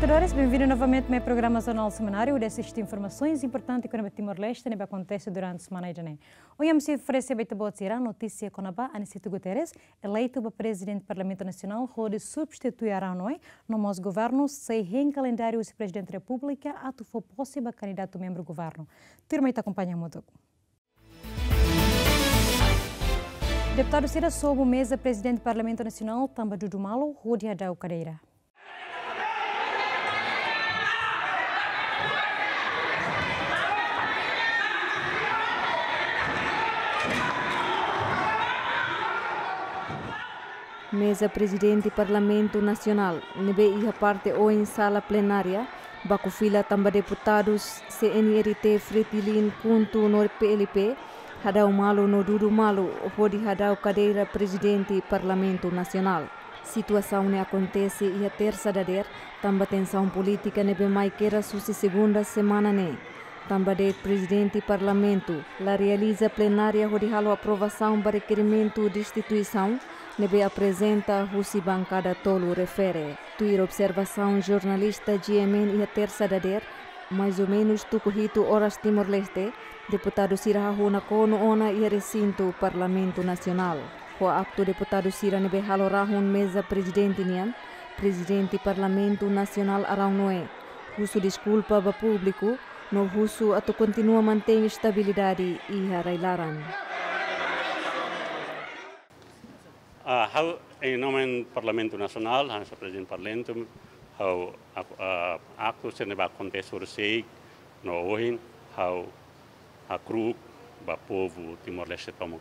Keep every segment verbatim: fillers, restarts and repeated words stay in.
Dores, bem-vindo novamente ao programa Jornal Semanário. Hodi asiste informasaun importante kona-ba Timor-Leste ne'ebé akontese durante semana ida-ne'e. Ohin ami sei oferese ba ita-boot sira notísia kona-ba Aniceto Guterres, eleitu ba Prezidente Parlamentu Nasionál hodi substitui Arão Noé, no mós governu sei hein kalendáriu husi Prezidente Repúblika atu fó pose ba kandidatu membru governu. Tuirmai ita akompaña hamutuk. Deputadu sira sobu meza Prezidente Parlamentu Nasionál tanba dudu malu hodi hadau kadeira. Meza Prezidente Parlamentu Nasionál, ne'ebé iha parte oin sala plenária, baku fila tanba deputadus C N R T, Fretilin, KHUNTO no P L P, hadau malu no dudu malu hodi hadau kadeira Prezidente Parlamentu Nasionál. Situasaun ne'e akontese iha tersa dadeer, tanba tensaun polítika ne'ebé mai keras husi segunda semana ne'e. Tanba de'it Prezidente Parlamentu la realiza plenária hodi halo aprovasaun ba rekerimentu destituisaun ne'ebé aprezenta husi bankada tolu refere. Tuir observasaun jornalista G M N iha tersa dadeer, mais ou menus tuku hitu oras Timor-Leste, deputadu sira hahú nakonu ona iha resintu Parlamentu Nasionál. Ho aktu deputadu sira ne'ebé halo rahun meza Prezidente nian, Prezidente Parlamentu Nasionál Arão Noé husu deskulpa ba públiku, no husu atu kontinua mantein estabilidade iha rai-laran. Ah, ha'u, em nome Parlamentu Nasionál, hanesan Prezidente Parlamentu, ha'u, ah, ah, aktu sira ne'ebé akontese horisehik no ohin, ha'u hakru'uk ba povu Timor-Leste tomak,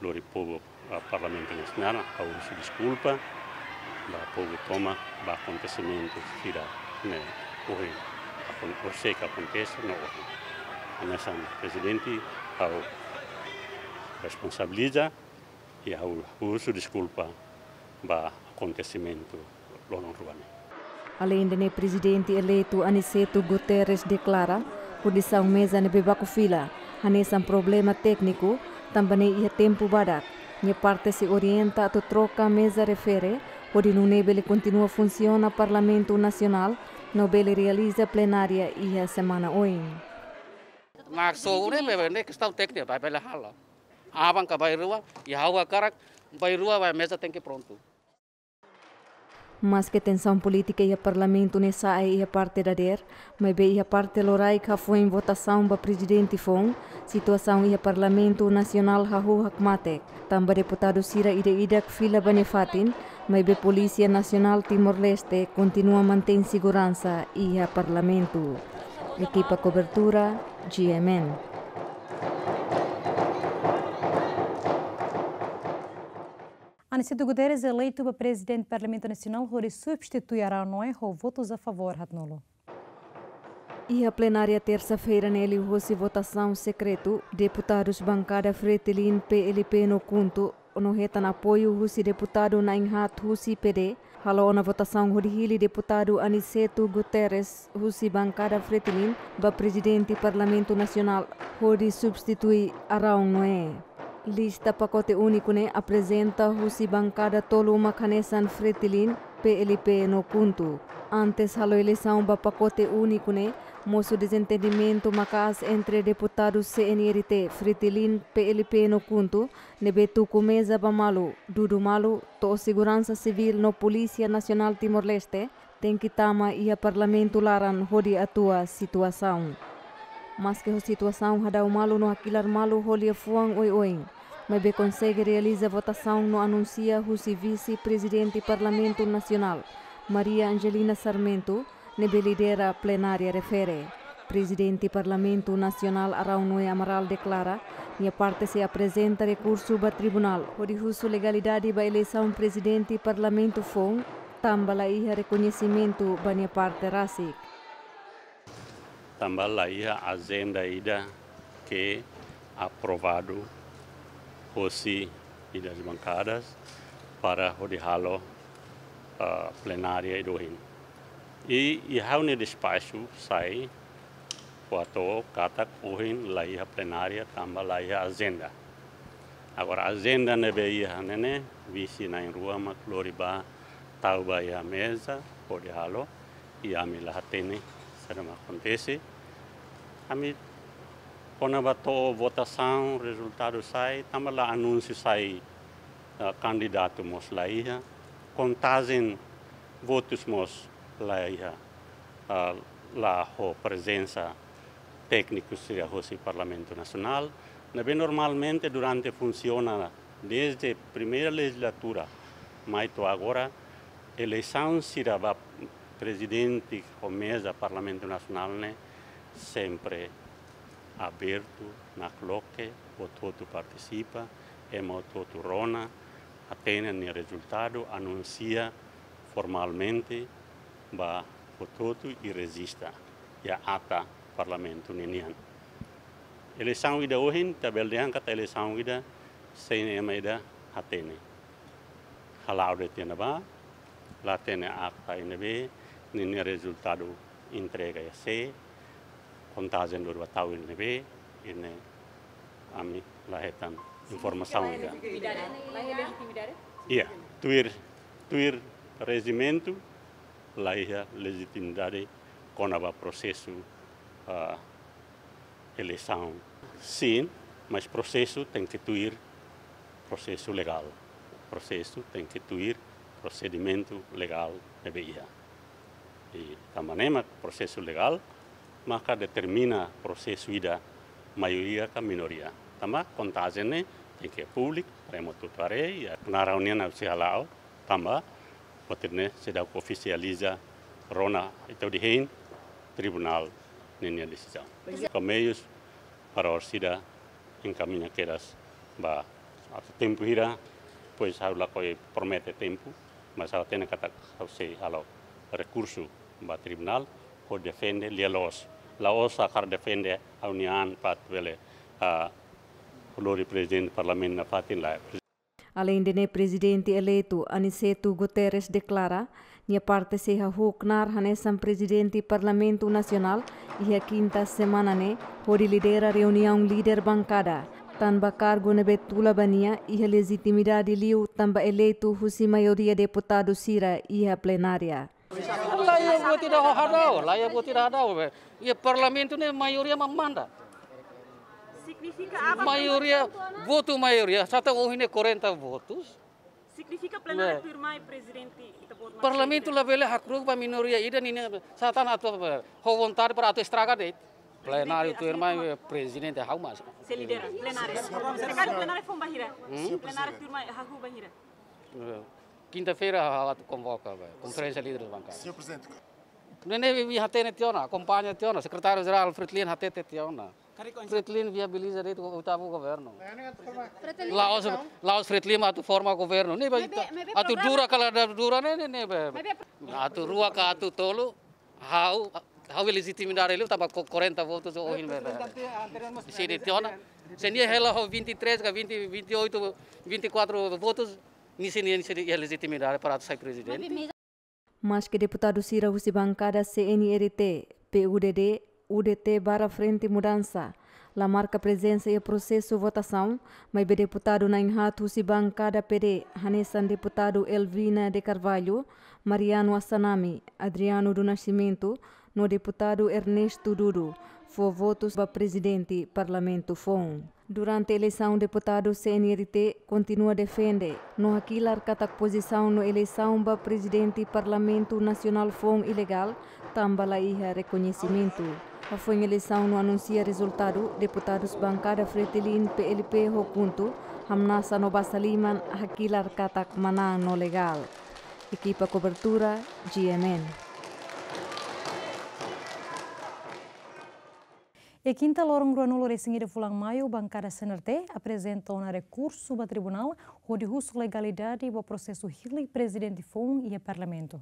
lori povu, ah, Parlamentu Nasionál, ha'u husu deskulpa ba povu tomak ba akontesimentu sira ne'e ohin, akon-, horisehik akontese no ohin. Hanesan Prezidente, ha'u responsabiliza, i ha'u husu deskulpa ba akontesimentu loron rua ne'e. Aleinde ne'e, Prezidente eleitu Aniceto Guterres deklara kondisaun meza ne'ebé baku fila hanesan problema tékniku, tanba ne'e iha tempu badak, nia parte sei orienta atu troka meza refere, hodi nune'e bele kontinua funsiona Parlamentu Nasionál, no bele realiza plenária iha semana oin. Maksud ne'e, ne'e kestaun tékniku, ba bele halo. Aban ka bainrua, i ha'u hakarak bainrua ba meza tenke prontu. Maske tensaun polítika iha Parlamentu ne'e sa'e iha parte dadeer, maibé iha parte loraik hafoin votasaun ba Prezidente foun, situasaun iha Parlamentu Nasionál hahú hakmatek. Tanba deputadu sira ida-idak fila ba nia fatin, maibé Polísia Nasionál Timor-Leste kontinua mantein seguransa iha Parlamentu. Ekipa kobertura, G M N. Aniceto Guterres eleitu ba Prezidente Parlamentu Nasionál hodi substitui Arão Noé ho votus a favór haatnulu. Iha plenária tersa-feira ne'e liuhosi votasaun sekretu, deputadus bankada Fretilin, P L P no KHUNTO, no hetan apoiu husi deputadu na'in-haat husi P D, halo ona votasaun hodi hili deputadu Aniceto Guterres husi bankada Fretilin ba Prezidente Parlamentu Nasionál hodi substitui Arão Noé. Lista pakote úniku ne'e aprezenta husi bankada tolu mak hanesan Fretilin, P L P no KHUNTO. Antes halo eleisaun ba pakote úniku ne'e, mosu dezentendimentu maka'as entre deputadu C N R T, Fretilin, P L P no KHUNTO, ne'ebé tuku meza ba malu, dudu malu, to'o Seguransa Sivíl no Polísia Nasionál Timor-Leste tenke tama iha Parlamentu laran hodi atua situasaun. Maske ho situasaun hadau malu no hakilar malu ho liafuan oioin, maibé konsege realiza votasaun no anunsia husi Vise-Prezidente Parlamentu Nasionál, Maria Angelina Sarmento, ne'ebé lidera plenária refere. Prezidente Parlamentu Nasionál Arão Noé Amaral deklara, nia parte sei aprezenta rekursu ba tribunál hodi husu legalidade ba eleisaun Prezidente Parlamentu foun, tanba la iha rekoñesimentu ba nia parte rasik. Tanba la iha ajenda ida ke aprovadu hosi ida das bankadas para hodi halo, ah, plenária ida ohin. I, i ha'u-nia despaxu sai, kuandu katak ohin la iha plenária tanba la iha ajenda. Agora, ajenda ne'ebé iha ne'e ne'e, vise na'in-rua mak lori ba tau ba iha meza, hodi halo. I ami la hatene saida mak akontese. Ami kona-ba to'o votasaun, rezultadu sai, tanba la anúnsiu sai, ah, kandidatu mós la iha, kontajen votus mós la iha, ah, la ho prezensa tékniku sira hosi Parlamentu Nasionál. Ne'ebé normalmente durante funsiona dezde primeira lejizlatura mai to'o agora, eleisaun sira ba prezidente ho meza Parlamentu Nasionál ne'e sempre abertu, nakloke, hotu-hotu partisipa, ema hotu-hotu rona, hatene nia rezultadu, anunsia formalmente ba hotu-hotu i rejista iha ata Parlamentu ninian. Eleisaun ida ohin, ita bele dehan katak eleisaun ida, sein ema ida hatene. Hala'o de'it iha ne'ebá, la hatene akta iha ne'ebé, ninia rezultadu entrega iha sé, kontajen lori ba tau iha ne'ebé, i ne'e ami la hetan informasaun ida. Lejitimidade. La iha lejitimidade? Iha, tuir, tuir rejimentu, la iha lejitimidade kona-ba prosesu, ah, eleisaun. Sin, mas prosesu tenke tuir prosesu legál. Prosesu tenke tuir prosedimentu legál ne'ebé iha. I tanba ne'e mak prosesu legál maka determina prosesu ida maioria ka minoria. Tanba kontajen ne'e tenke públiku, para ema hotu-hotu haree, iha knaar ha'u-nian ha'u sei hala'o, tanba buat ne'e seidauk ofisializa rona ita hodi hein tribunál ninia desizaun. Ko meius para orsida enkamiña kedas ba atu tempu hira, pois ha'u lakohi promete tempu, mas ha'u hatene katak ha'u sei halo rekursu ba tribunál, hodi defende lia-loos. La'ós hakarak defende ha'u-nia an para atu bele, ah, lori prezidente parlamentu nafatin lae. Aleinde ne'e, Prezidente eleitu Aniceto Guterres deklara, nia parte sei hahú knaar hanesan Prezidente Parlamentu Nasionál iha kinta semana ne'e, hodi lidera reuniaun líder bankada, tanba kargu ne'ebé tula ba nia iha lejitimidade liu tanba eleitu husi maioria deputadu sira iha plenária. La iha buat ida hadau, la iha buat ida hadau, be. Iha parlamentu ne'e maioria mak manda. Signifika apa? Maioria, votu maioria, sá tan ohin ne'e quarenta votus. Signifika plenária, be, tuirmai prezidente ita-boot mak... Parlamentu la bele hakru'uk ba minoria ida ninia, sá tan atu, be, ho vontade para atu estraga de'it. Plenária tuirmai, be, prezidente ha'u mak sei lidera plenária. Sekali plenária foun ba hira? Hmm? Plenária tuirmai hahú ba hira? Eh, kinta-feira ha'u atu konvoka, be, konferénsia líderes bankada. Señór Prezidente. Ne'e ne'ebé imi hatene tiha ona, akompaña tiha ona, Sekretáriu Jerál Fretilin hatete tiha ona. Fretilin viabiliza de'it oitavu governu. La'ós, la'ós Fretilin atu forma governu. Ne'ebé atu dura ka la dura ne'e, ne'e, ne'ebé. Atu rua ka atu tolu, ha'u, ha'u lejitimidade liu tanba quarenta votus ohin, be, be. Sei dehan tiha ona. Se nia hela ho vinte e três ka vinte, vinte e oito, vinte e quatro votus, nia sei, nia sei iha lejitimidade para atu sai prezidente. Maske deputadu sira husi bankada C N R T, P U D D, U D T barra Frente Mudansa la marka prezensa iha prosesu votasaun, maibé deputadu na'in-haat husi bankada P D, hanesan deputadu Elvina de Carvalho, Mariano Assanami, Adriano do Nascimento, no deputadu Ernesto Dudu, fó votus ba prezidente parlamentu foun. Durante eleisaun, deputadu C N R T kontinua defende no hakilar katak pozisaun no eleisaun ba prezidente Parlamentu Nasionál foun ilegál, tanba la iha rekoñesimentu. Hafoin eleisaun no anunsia rezultadu, deputadus bankada Fretilin, P L P ho KHUNTO, hamnasa no basa liman hakilar katak manán no legál. Ekipa kobertura, G M N. Iha kinta loron ruanulu-resin-ida fulan Maiu, bankada C N R T aprezenta ona rekursu ba tribunál hodi husu legalidade ba prosesu hili prezidente foun iha parlamentu.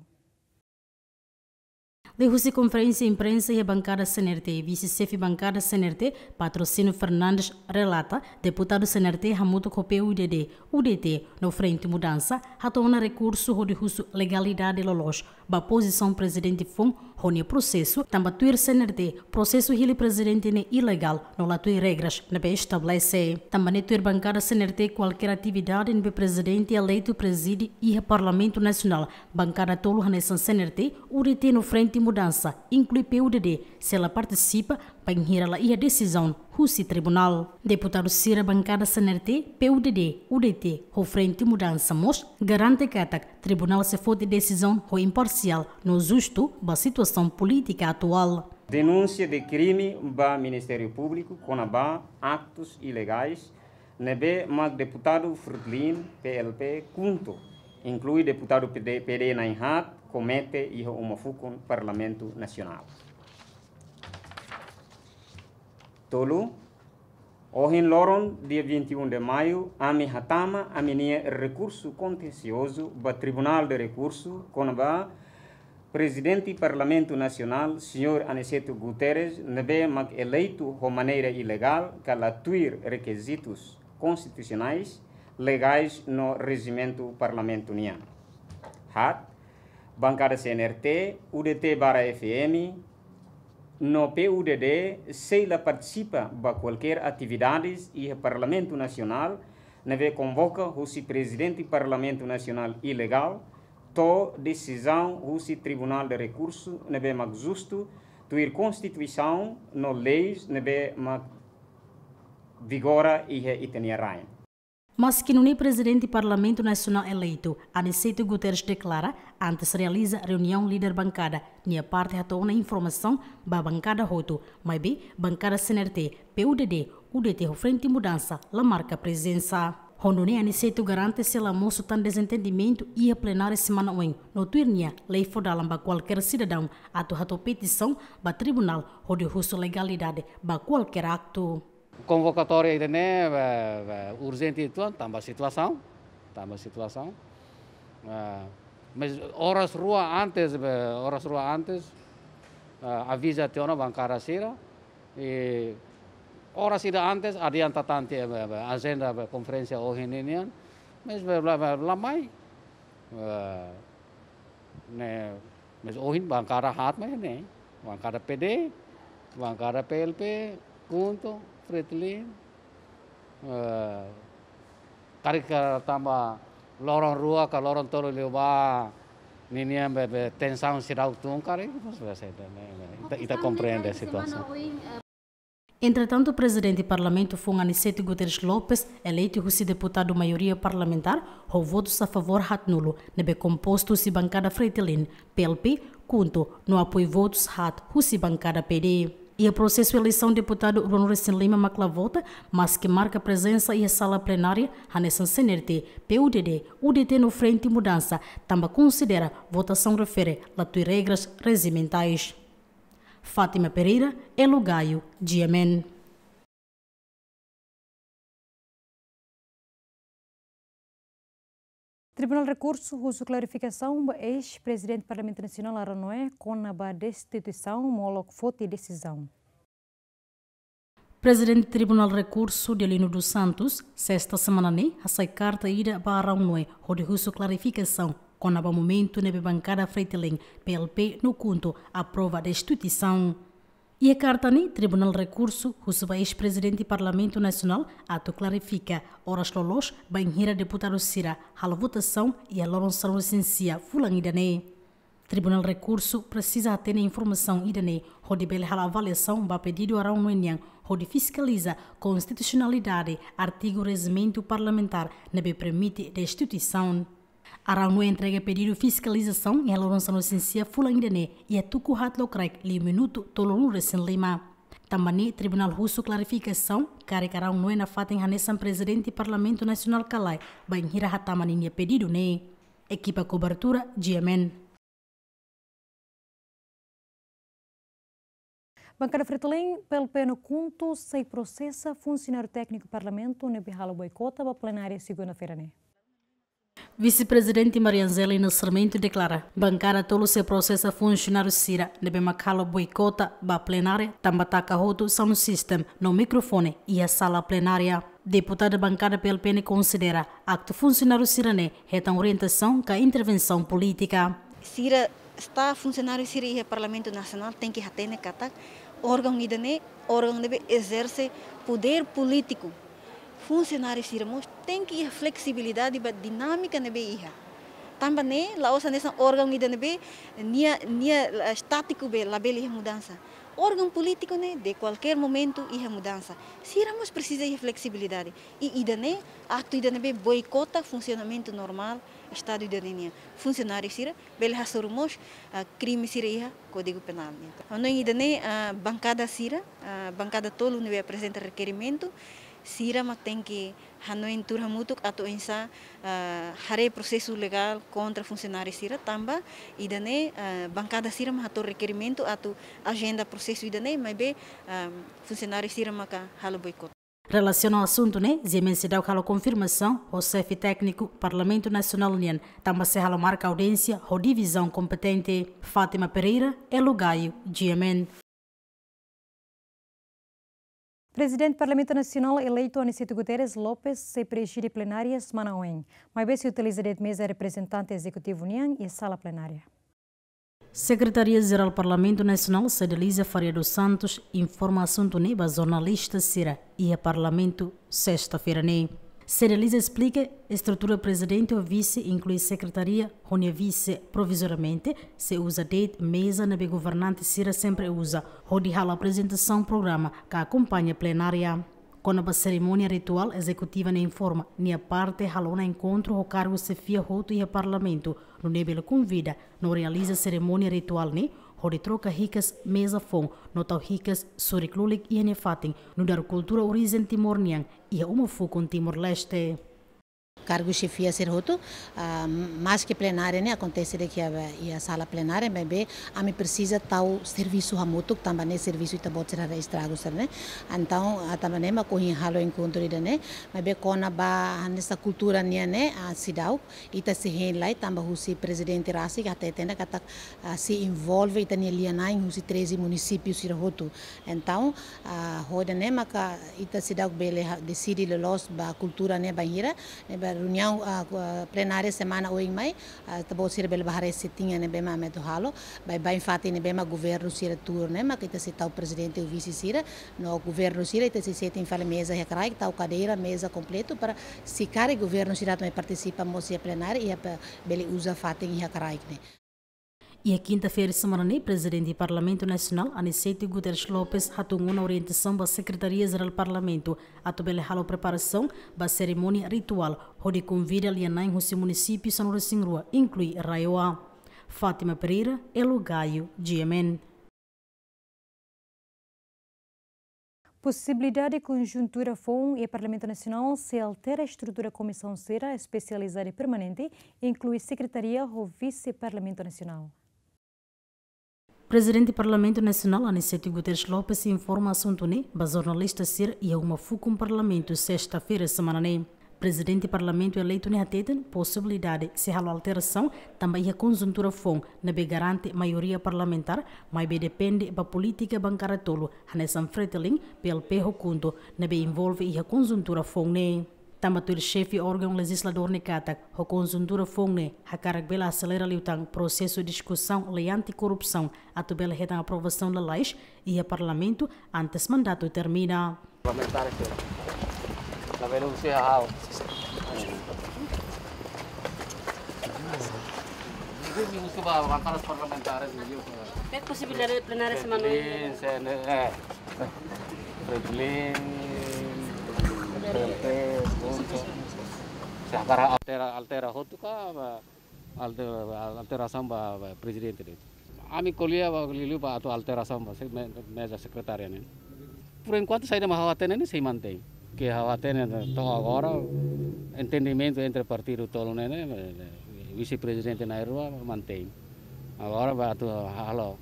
Liuhusi konferénsia imprensa iha bankada C N R T, vise-xefe bankada C N R T, Patrocínio Fernandes, relata, deputadu C N R T hamutuk ho P U D D, U D T no Frente Mudansa hato'o ona rekursu hodi husu legalidade loloos ba pozisaun prezidente foun ho nia prosesu, tanba tuir C N R T, prosesu hili prezidente ne'e ilegál, no la tuir regras ne'ebé estabelese. Tanba ne'e tuir bankada C N R T kualkér atividade ne'ebé prezidente eleitu prezide iha Parlamentu Nasionál, bankada tolu hanesan C N R T, U D T no Frente Mudansa, inklui P U D D, sei la partisipa, bainhira la iha desizaun husi tribunál. Deputadu sira bankada C N R T, P U D D, U D T, ho Frente Mudansa mós garante katak tribunál sei foti desizaun ho imparsiál no justu ba situasaun polítika atuál. Denúnsia de krime ba Ministériu Públiku kona-ba aktus ilegais ne'ebé mak deputadu Fretilin, P L P, KHUNTO, inklui deputadu P D, P D na'in-haat, komete iha uma fukun Parlamentu Nasionál. Tolu, ohin loron, dia vinte e um de maio, ami hatama ami-nia rekursu kontensiozu ba Tribunál de Rekursu kona-ba Prezidente Parlamentu Nasionál, Señór Aniceto Guterres, ne'ebé mak eleitu ho maneira ilegál, ka la tuir rekizitus konstitusionais, legais no rejimentu Parlamentu nian. Haat, bankada C N R T, U D T barra F M, no P U D D sei la partisipa ba kualkér atividades iha Parlamentu Nasionál ne'ebé konvoka husi Prezidente Parlamentu Nasionál ilegál, to'o desizaun husi Tribunál de Rekursu ne'ebé mak justu, tuir Konstituisaun no leis ne'ebé mak vigora iha ita-nia rain. Maski nune'e Prezidente Parlamentu Nasionál eleitu, Aniceto Guterres deklara, antes realiza reuniaun líder bankada, nia parte hato'o ona informasaun ba bankada hotu, maibé bankada C N R T, P U D D, U D T ho Frente Mudansa la marka prezensa. Ho nune'e Aniceto garante sei la mosu tan dezentendimentu iha plenária semana oin, no tuir nia lei fó dalan ba kualkér sidadaun atu hato'o petisaun ba tribunál hodi husu legalidade ba kualkér aktu. Konvokatória ida-ne'e, eh, eh, urjente uitoan, tanba situasaun, tanba situasaun. Eh, mas oras rua antes, eh, oras rua antes, eh, aviza tiha ona bankada sira, i oras ida antes adianta tan tiha, eh, eh, ajenda, eh, konferénsia ohin nian, mas, eh, la, la, la mai, eh, ne'e, mas ohin bankada haat mai ne'e. Bankada P D, bankada P L P, KHUNTO, Fretilin. Eh, karik tanba loron rua ka loron tolu liubá, ninian be, be tensaun seidauk tun karik, mas be se, ita, ita komprende situasaun. Entretantu, Prezidente Parlamentu foun Aniceto Guterres Lopes, eleitu husi deputadu maioria parlamentár, ho votus a favór haatnulu, ne'ebé kompostu husi bankada Fretilin, P L P, KHUNTO, no apoiu votus haat husi bankada P D. Iha prosesu eleisaun deputadu ruanulu-resin-lima mak la vota, maski marka prezensa iha sala plenária, hanesan C N R T, P U D D, U D T no Frente Mudansa, tanba konsidera votasaun refere la tuir regras rejimentais. Fátima Pereira, Elo Gaio, G M N. Tribunál Rekursu husu klarifikasaun ba eis-Prezidente Parlamentu Nasionál Arão Noé kona-ba destituisaun molok foti desizaun. Prezidente Tribunál Rekursu, Delino dos Santos, sesta semana ne'e, hasai karta ida ba Arão Noé, hodi husu klarifikasaun kona-ba momentu ne'ebé bankada Fretilin, P L P no KHUNTO aprova destituisaun. Iha karta ne'e, Tribunál Rekursu husu ba eis-Prezidente Parlamentu Nasionál atu klarifika oras loloos bainhira deputadu sira halo votasaun iha loron sanulu-resin-sia fulan ida-ne'e. Tribunál Rekursu presiza hatene informasaun ida-ne'e hodi bele halo avaliasaun ba pedidu Arão Noé nian hodi fiskaliza konstitusionalidade artigu rejimentu parlamentár ne'ebé permite destituisaun. Arão Noé entrega pedidu fiskalizasaun iha loron sanulu-resin-sia fulan ida-ne'e iha tuku haat lokraik liu minutu tolunulu-resin-lima. Tanba ne'e Tribunál husu klarifikasaun karik Arão Noé nafatin hanesan Prezidente Parlamentu Nasionál ka lae bainhira hatama ninia pedidu ne'e. Ekipa kobertura, G M N. Bankada Fretilin, P L P no KHUNTO sei prosesa funsionáriu tékniku Parlamentu ne'ebé halo boikota ba plenária segunda-feira ne'e. Vise-Prezidente Maria Angelina Sarmento deklara, bankada tolu sei prosesa funsionáriu sira ne'ebé mak halo boikota ba plenária tanba taka hotu sound system no mikrofone iha sala plenária. Deputada bankada P L P ne'e konsidera aktu funsionáriu sira-ne'e hetan orientasaun ka intervensaun polítika. Sira staf, funsionáriu sira iha Parlamentu Nasionál tenke hatene katak órgaun ida-ne'e órgaun ne'ebé ezerse podér polítiku. Funsionáriu sira mós tenke iha fleksibilidade ba dinámika ne'ebé iha. Tanba ne'e la'ós hanesan órgaun ida ne'ebé nia, nia, eh, estátiku be labele iha mudansa. Órgaun polítiku ne'e de kualkér momentu iha mudansa. Sira mós presiza iha fleksibilidade. I ida-ne'e aktu ida ne'ebé boikota funsionamentu normál Estadu ida-ne'e nian. Funsionáriu sira bele hasoru mós, ah, krime sira iha Kódigu Penál nian. Hanoin ida-ne'e, ah, bankada sira, ah, bankada tolu ne'ebé aprezenta rekerimentu, sira mak tenke hanoin tuur hamutuk atu oinsá, ah, haree prosesu legál kontra funsionáriu sira, tanba ida-ne'e, ah, bankada sira mak hato'o rekerimentu atu ajenda prosesu ida-ne'e, maibé, ah, funsionáriu sira maka halo boikota. Relasiona ho asuntu ne'e, G M N seidauk halo konfirmasaun ho xefe tékniku Parlamentu Nasionál nian, tanba sei halo marka audiénsia ho divizaun kompetente. Fátima Pereira, Elo Gaio, G M N. Prezidente Parlamentu Nasionál eleitu Aniceto Guterres Lopes sei prezide plenária semana oin, maibé sei utiliza de'it meza reprezentante ezekutivu nian i sala plenária. Sekretaria Jerál Parlamentu Nasionál, Cedeliza Faria dos Santos, informa asuntu ne'e ba jornalista sira iha Parlamentu, sesta-feira ne'e. Cedeliza esplika, estrutura prezidente ho vise, inklui sekretaria ho nia vise, provizoriamente sei uza de'it meza ne'ebé governante sira sempre uza, hodi halo aprezentasaun programa ka akompaña plenária. Kona-ba serimónia rituál, ezekutiva ne'e informa, nia parte halo ona enkontru ho kargu xefia hotu iha Parlamentu, nune'e bele konvida no realiza serimónia rituál ne'e, hodi troka hikas meza foun, no tau hikas surik-lulik iha nia fatin, nu'udar kultura orijen Timor nian, iha uma fukun Timor-Leste. Kargu xefia sira hotu, ah, maske plenária ne'e akontese de'it iha, iha sala plenária, maibé ami presiza tau servisu hamutuk, tanba ne'e servisu ita-boot sira haree estragu sira ne'e. Entaun, ah, tanba ne'e mak ohin halo enkontru ida-ne'e, maibé kona-ba hanesan kultura nian ne'e, ah, seidauk, ita sei hein lai, tanba husi prezidente rasik hateten ona katak, ah, sei envolve ita-nia lia-na'in husi treze munisípiu sira hotu. Entaun, ah, hodi nune'e maka ita seidauk bele ha-, deside loloos ba kultura ne'e bainhira, ne'ebé reuniaun, ah, ku-, ah, plenária semana oin mai, ah, ita-boot sira bele bá haree setinha ne'ebé mak ami atu halo, baibain fatin ne'ebé mak governu sira tuur ne'e, maka ita sei tau prezidente ho vise sira, no governu sira ita sei setin fali meza iha kraik, tau kadeira, meza kompletu, para se karik governu sira atu mai partisipa mós iha plenária, iha pe-, bele uza fatin iha kraik ne'e. Iha kinta-feira semana ne'e, Prezidente Parlamentu Nasionál, Aniceto Guterres Lopes, hatún ona orientasaun ba Sekretaria Jerál Parlamentu, atu bele halo preparasaun ba serimónia rituál, hodi konvida lia-na'in husi munisípiu sanulu-resin-rua, inklui RAEOA. Fátima Pereira, Elo Gaio, G M N. Posibilidade konjuntura foun iha Parlamentu Nasionál sei altera estrutura komisaun sira espesializada permanente, inklui sekretaria ho vise Parlamentu Nasionál. Prezidente Parlamentu Nasionál, Aniceto Guterres Lopes, informa asuntu ne'e ba jornalista sira iha uma fukun Parlamentu, sesta-feira semana ne'e. Prezidente Parlamentu eleitu ne'e hateten posibilidade sei halo alterasaun tanba iha konjuntura foun ne'ebé garante maioria parlamentár, maibé depende ba polítika bankada tolu, hanesan Fretilin, P L P ho KHUNTO, ne'ebé envolve iha konjuntura foun ne'e. Tanba tuir xefe órgaun lejizladór ne'e katak, ho konjuntura foun ne'e hakarak bele aselera liután prosesu diskusaun lei anti-korrupsaun atu bele hetan aprovasaun lalais iha Parlamentu antes mandatu termina. Parlamentares sira. Labele husi ha'u. Husi ba bankadas parlamentares, liu. Iha posibilidade plenária semana oin? Fretilin, C N E, Fretilin, P L P, KHUNTO. Se hakarak altera, altera hotu ka, ba, Alter-, alterasaun ba, ba prezidente de'it. Ami ko'alia ba liuliu ba atu alterasaun ba se-, me-, meza sekretária ne'e. Por enkuantu saida mak ha'u hatene ne'e sei mantein. Ke ha'u hatene to'o agora entendimentu entre partidu tolu ne'e, ne'e, vise-prezidente na'in-rua mantein. Agora ba atu halo,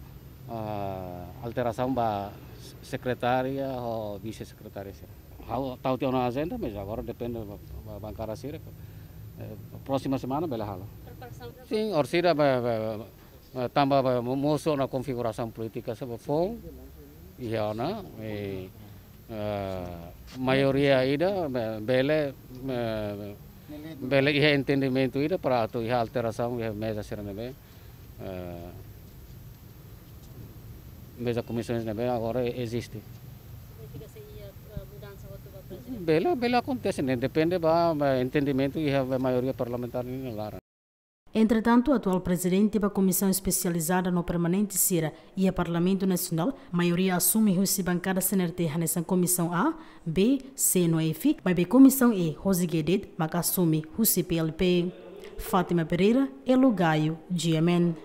ah, alterasaun ba sekretária ho vise-sekretária sira. Ha'u tau tiha ona ajenda, mas agora depende ba, ba bankada sira. Eh, próxima semana bele halo. Sin, orsida ba, ba, ba, tanba ba mo-, mosu ona konfigurasaun polítika sira ba foun, iha ona, eh, eh, maioria ida, be-, bele, eh, bele iha entendimentu ida para atu iha alterasaun iha meza sira ne'ebé, eh, Meza komisaun ne'ebé agora eziste. Significa se iha, eh, mudansa hotu ba prezidente? Bele, bele akontese, ne'e depende ba, ba entendimentu iha maioria parlamentár nia laran. Entretantu, atuál prezidente ba Komisaun Espesializada no Permanente sira iha Parlamentu Nasionál, maioria asume husi bankada C N R T hanesan Komisaun A, B, C no F, maibé Komisaun E, José Guedet, maka asume husi P L P. Fátima Pereira, Elo Gaio, G M N.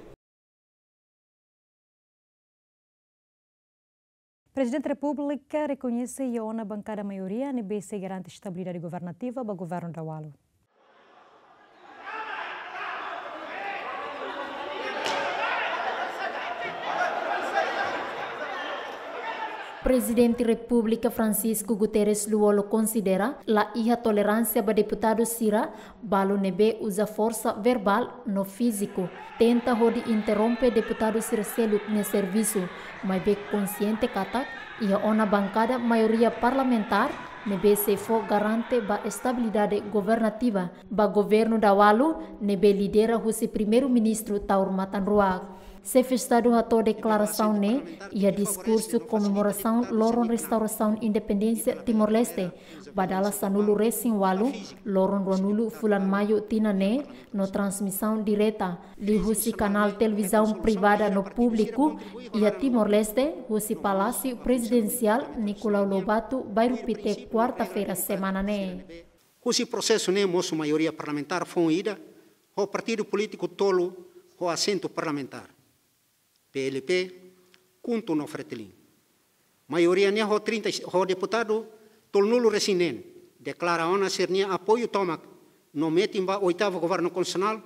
Prezidente Repúblika rekoñese iha ona bankada maioria ne'ebé sei garante estabilidade governativa ba governu Daualu. Prezidente Repúblika Francisco Guterres Lú Olo konsidera la iha toleránsia ba deputadu sira balu ne'ebé uza forsa verbál no fíziku, tenta hodi interrompe deputadu sira seluk nia servisu, maibé konsiente katak iha ona bankada maioria parlamentár ne'ebé sei fó garante ba estabilidade governativa ba governu Daualu ne'ebé lidera husi Primeiru-Ministru Taur Matan Ruak. Xefe Estadu hato'o deklarasaun ne'e iha diskursu komemorasaun loron restaurasaun independénsia Timor-Leste, ba dala sanulu-resin-ualu, loron ruanulu fulan Maiu tinan ne'e, no transmisaun direta liuhusi kanál televizaun privada no públiku iha Timor-Leste, husi Palásiu Prezidensiál Nicolau Lobato, Bairru Pité, kuarta-feira semana ne'e. Husi prosesu ne'e mosu maioria parlamentár foun ida ho partidu polítiku tolu ho asentu parlamentár, P L P, KHUNTO no Fretilin. Maioria ne'e ho trinta, ho deputadu tolunulu-resin-neen deklara ona sira-nia apoiu tomak no metin ba oitavu governu konstitusionál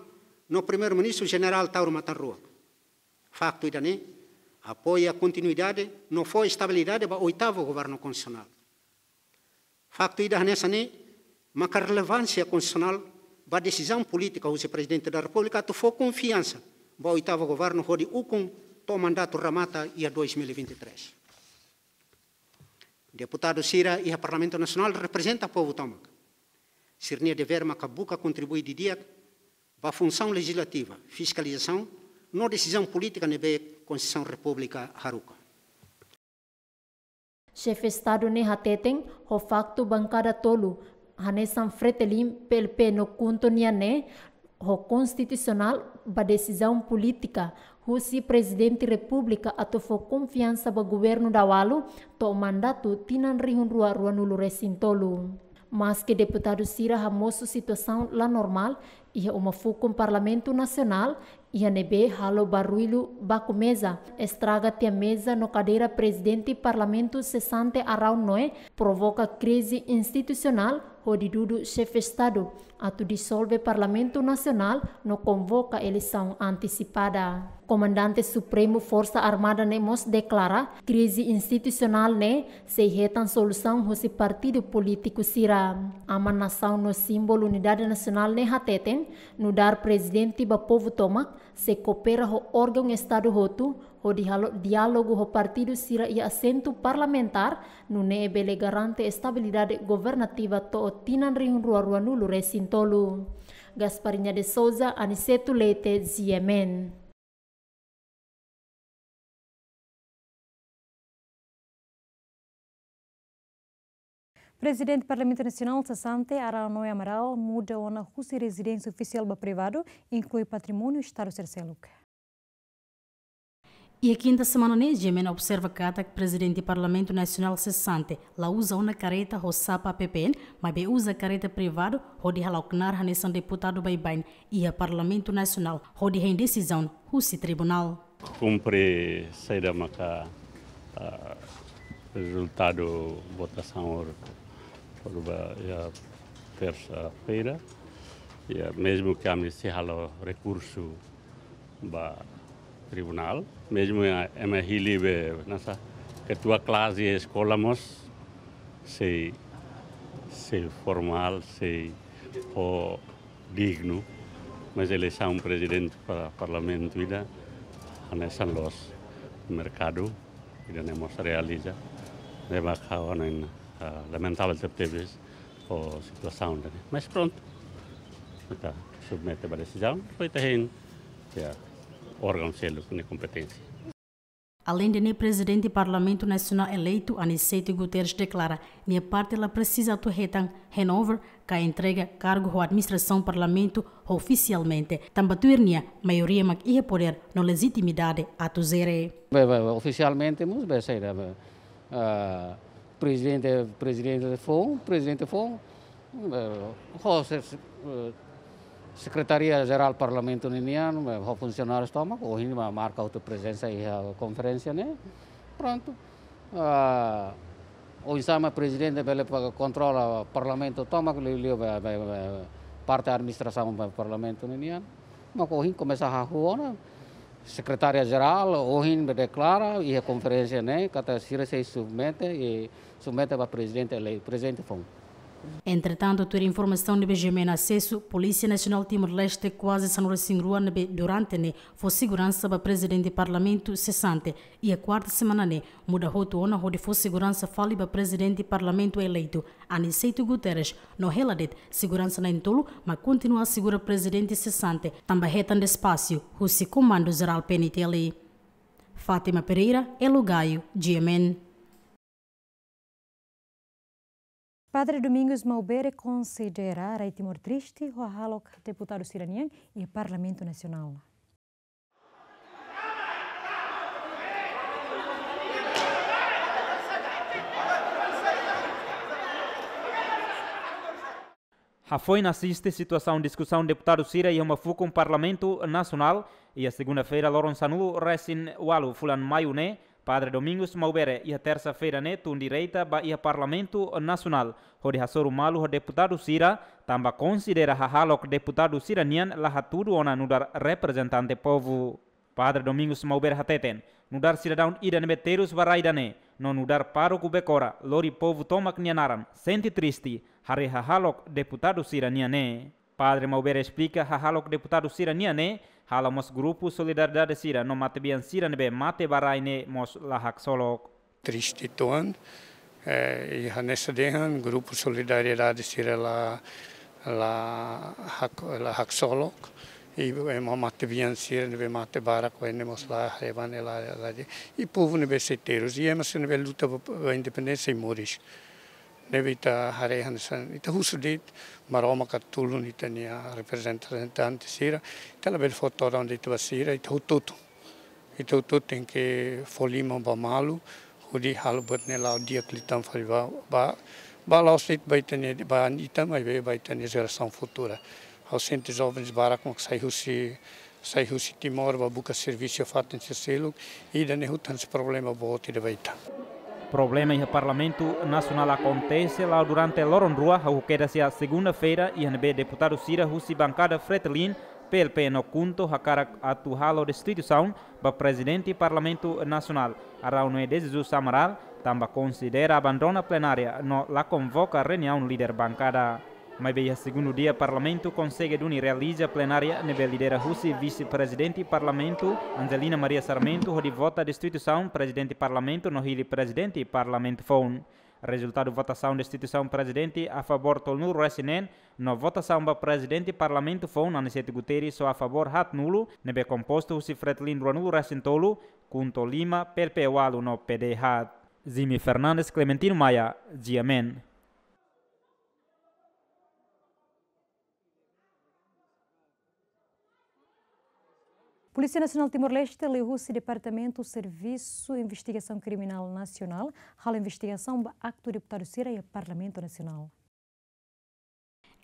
no Primeiru-Ministru Jenerál Taur Matan Ruak. Faktu ida-ne'e apoia kontinuidade no fó estabilidade ba oitavu governu konstitusionál. Faktu ida hanesan ne'e maka relevánsia konstitusionál ba desizaun polítika husi Prezidente da Repúblika atu fó konfiansa ba oitavu governu hodi ukun to'o mandatu remata iha dois mil e vinte e três. Deputadu sira iha Parlamentu Nasionál reprezenta povu tomak. Sira-nia devér maka buka kontribui didi'ak ba funsaun lejislativa, fiskalizasaun no desizaun polítika ne'ebé Konstituisaun Repúblika haruka. Xefe Estadu ne'e hateten, ho faktu bankada tolu, hanesan Fretilin, P L P no KHUNTO nian ne'e, ho konstitusionál ba desizaun polítika husi Prezidente Repúblika atu fó konfiansa ba governu Daualu to'o mandatu tinan rihun rua ruanulu-resin-tolu. Maski deputadu sira hamosu situasaun la normál iha uma fukun Parlamentu Nasionál, iha ne'ebé halo barullu baku meza, estraga tiha meza no kadeira Prezidente Parlamentu sesante Araun Noé, provoka krize institusionál, hodi dudu Xefe Estadu atu disolve Parlamentu Nasionál no konvoka eleisaun antesipada. Komandante Supremu Forsa Armada ne'e mós deklara, krize institusionál ne'e sei hetan solusaun husi partidu polítiku sira. Aman nasaun no símbolu unidade nasionál ne'e hateten, nu'udar prezidente ba povu tomak, sei koopera ho órgaun Estadu hotu, hodi halo diálogu ho partidu sira iha asentu parlamentár, nune'e bele garante estabilidade governativa to'o tinan rihun rua ruanulu-resin-tolu. Gasparinha de Souza, Aniceto Leite, G M N. Prezidente Parlamentu Nasionál sesante, Araun Noé Amaral, muda ona husi rezidénsia ofisiál ba privadu, inklui patrimóniu Estadu sira seluk. Iha kinta semana ne'e, G M N observa katak Prezidente Parlamentu Nasionál sesante la uza ona kareta ho sapa P P N, maibé uza kareta privadu, hodi hala'o knaar hanesan deputadu baibain iha Parlamentu Nasionál, hodi hein desizaun husi tribunál. Kumpre saida maka, ah, rezultadu votasaun or, or ba, iha tersa-feira. Iha, mezmu ke ami sei halo rekursu ba tribunál, mezmu iha ema hili be, nasa, ketua klase eskola mós sei, sei formál, sei ho dignu, mas eleisaun prezidente para parlamentu ida hanesan loos, merkadu ida-ne'e mós realiza, ne'e maka ohin, ah, lamentavel tebetebes ho situasaun ida-ne'e. Mas prontu, ita submete ba desizaun, depois ita hein, iha órgaun seluk nia kompeténsia. Aleinde ne'e, Prezidente Parlamentu Nasionál eleitu, Aniceto Guterres, deklara nia parte la presiza atu hetan handover ka entrega kargu ho administrasaun Parlamentu ofisialmente, tanba tuir nia maioria mak iha podér no lejitimidade atu jere. Be, be, be, ofisialmente mós be saida be, ah, prezidente, prezidente foun, prezidente foun, eh, ho se-, eh, Sekretaria Jerál Parlamentu ninian, eh, ho funsionáriu tomak, ohin mak marka hotu prezensa iha konferénsia ne'e. Prontu. Ah, oinsá mak prezidente bele pa kontrola Parlamentu tomak, liuliu be, be, be, parte administrasaun be Parlamentu ninian. Mak ohin komesa hahú ona, Sekretaria Jerál ohin be deklara iha konferénsia ne'e katak sira sei submete, i submete ba prezidente elei-, prezidente foun. Entretantu, tuir informasaun ne'ebé GMN asesu, Polísia Nasionál Timor-Leste kuaze sanulu-resin-rua ne'ebé durante ne'e fó seguransa ba prezidente Parlamentu sesante, iha kuarta semana ne'e muda hotu ona hodi fó seguransa fali ba prezidente Parlamentu eleitu, Aniceto Guterres, no hela de'it seguransa na'in-tolu mak kontinua asegura prezidente sesante, tanba hetan despaxu husi Komandu Jerál PNTL. Fátima Pereira, Elo Gaio, GMN. Padre Domingos Maubere konsidera rai Timor triste ho hahalok deputadu sira-nian iha Parlamentu Nasionál. Hafoin asiste situasaun diskusaun deputadu sira iha uma fukun Parlamentu Nasionál, iha segunda-feira loron sanulu-resin-ualu fulan Maiu ne'e, Padre Domingos Maubere iha tersa-feira ne'e tun direta ba iha Parlamentu Nasionál, hodi hasoru malu ho deputadu sira, tanba konsidera hahalok deputadu sira-nian la hatudu ona nu'udar reprezentante povu. Padre Domingos Maubere hateten, nu'udar sidadaun ida ne'ebé terus ba rai ida-ne'e, no nu'udar pároku Bekora, lori povu tomak nia naran, sente triste, haree hahalok deputadu sira-nian ne'e. Padre Maubere esplika hahalok deputadu sira-nian ne'e, halo mós grupu solidariedade sira no matebian sira ne'ebé mate ba rai ne'e mós la haksolok. Triste uitoan, eh, i hanesan dehan, grupu solidariedade sira la, la hak-, la haksolok, i, eh, ema matebian sira ne'ebé mate barak, eh, ne'e mós la haree ba ne'e la, la, i povu ne'ebé sei terus, i ema sira ne'ebé luta ba, ba independénsia sei moris. Ne'ebé ita haree hanesan, ita husu de'it, Maromak atu tulun ita-nia reprezentante sira, ita labele fó todan de'it ba sira, ita hotu-hotu. Ita hotu-hotu tenke fó liman ba malu, hodi halo buat ne'e la'o di'ak liután fali ba, ba, ba la'ós de'it ba ita-nia, ba ita, maibé ba ita-nia jerasaun futura. Ha'u sente jovens barak mak sai husi, sai husi Timor ba buka servisu fatin sira seluk, ida-ne'e hotu hanesan problema boot ida ba ita. Problema iha Parlamentu Nasionál akontese la'o durante loron rua, hahú kedas iha segunda-feira, iha ne'ebé deputadu sira husi bankada Fretilin, PLP no KHUNTO hakarak atu halo destituisaun ba Prezidente Parlamentu Nasionál, Araújo Nuno de Jesus Amaral, tanba konsidera abandona plenária no la konvoka reuniaun líder bankada. Maibé iha segundu dia Parlamentu konsege duni realiza plenária ne'ebé lidera husi Vise-Prezidente Parlamentu, Angelina Maria Sarmento, hodi vota destituisaun Prezidente Parlamentu no hili Prezidente Parlamentu foun. Rezultadu votasaun destituisaun Prezidente a favór tolunulu-resin-neen, no votasaun ba Prezidente Parlamentu foun Aniceto Guterres só a favór haatnulu, ne'ebé kompostu husi Fretilin ruanulu-resin-tolu, KHUNTO lima, PLP ualu no PD haat. Jimmy Fernandes, Clementino Maia, GMN. Polísia Nasionál Timor-Leste liuhusi Departamentu Servisu Investigasaun Kriminál Nasionál halo investigasaun ba aktu deputadu sira iha Parlamentu Nasionál.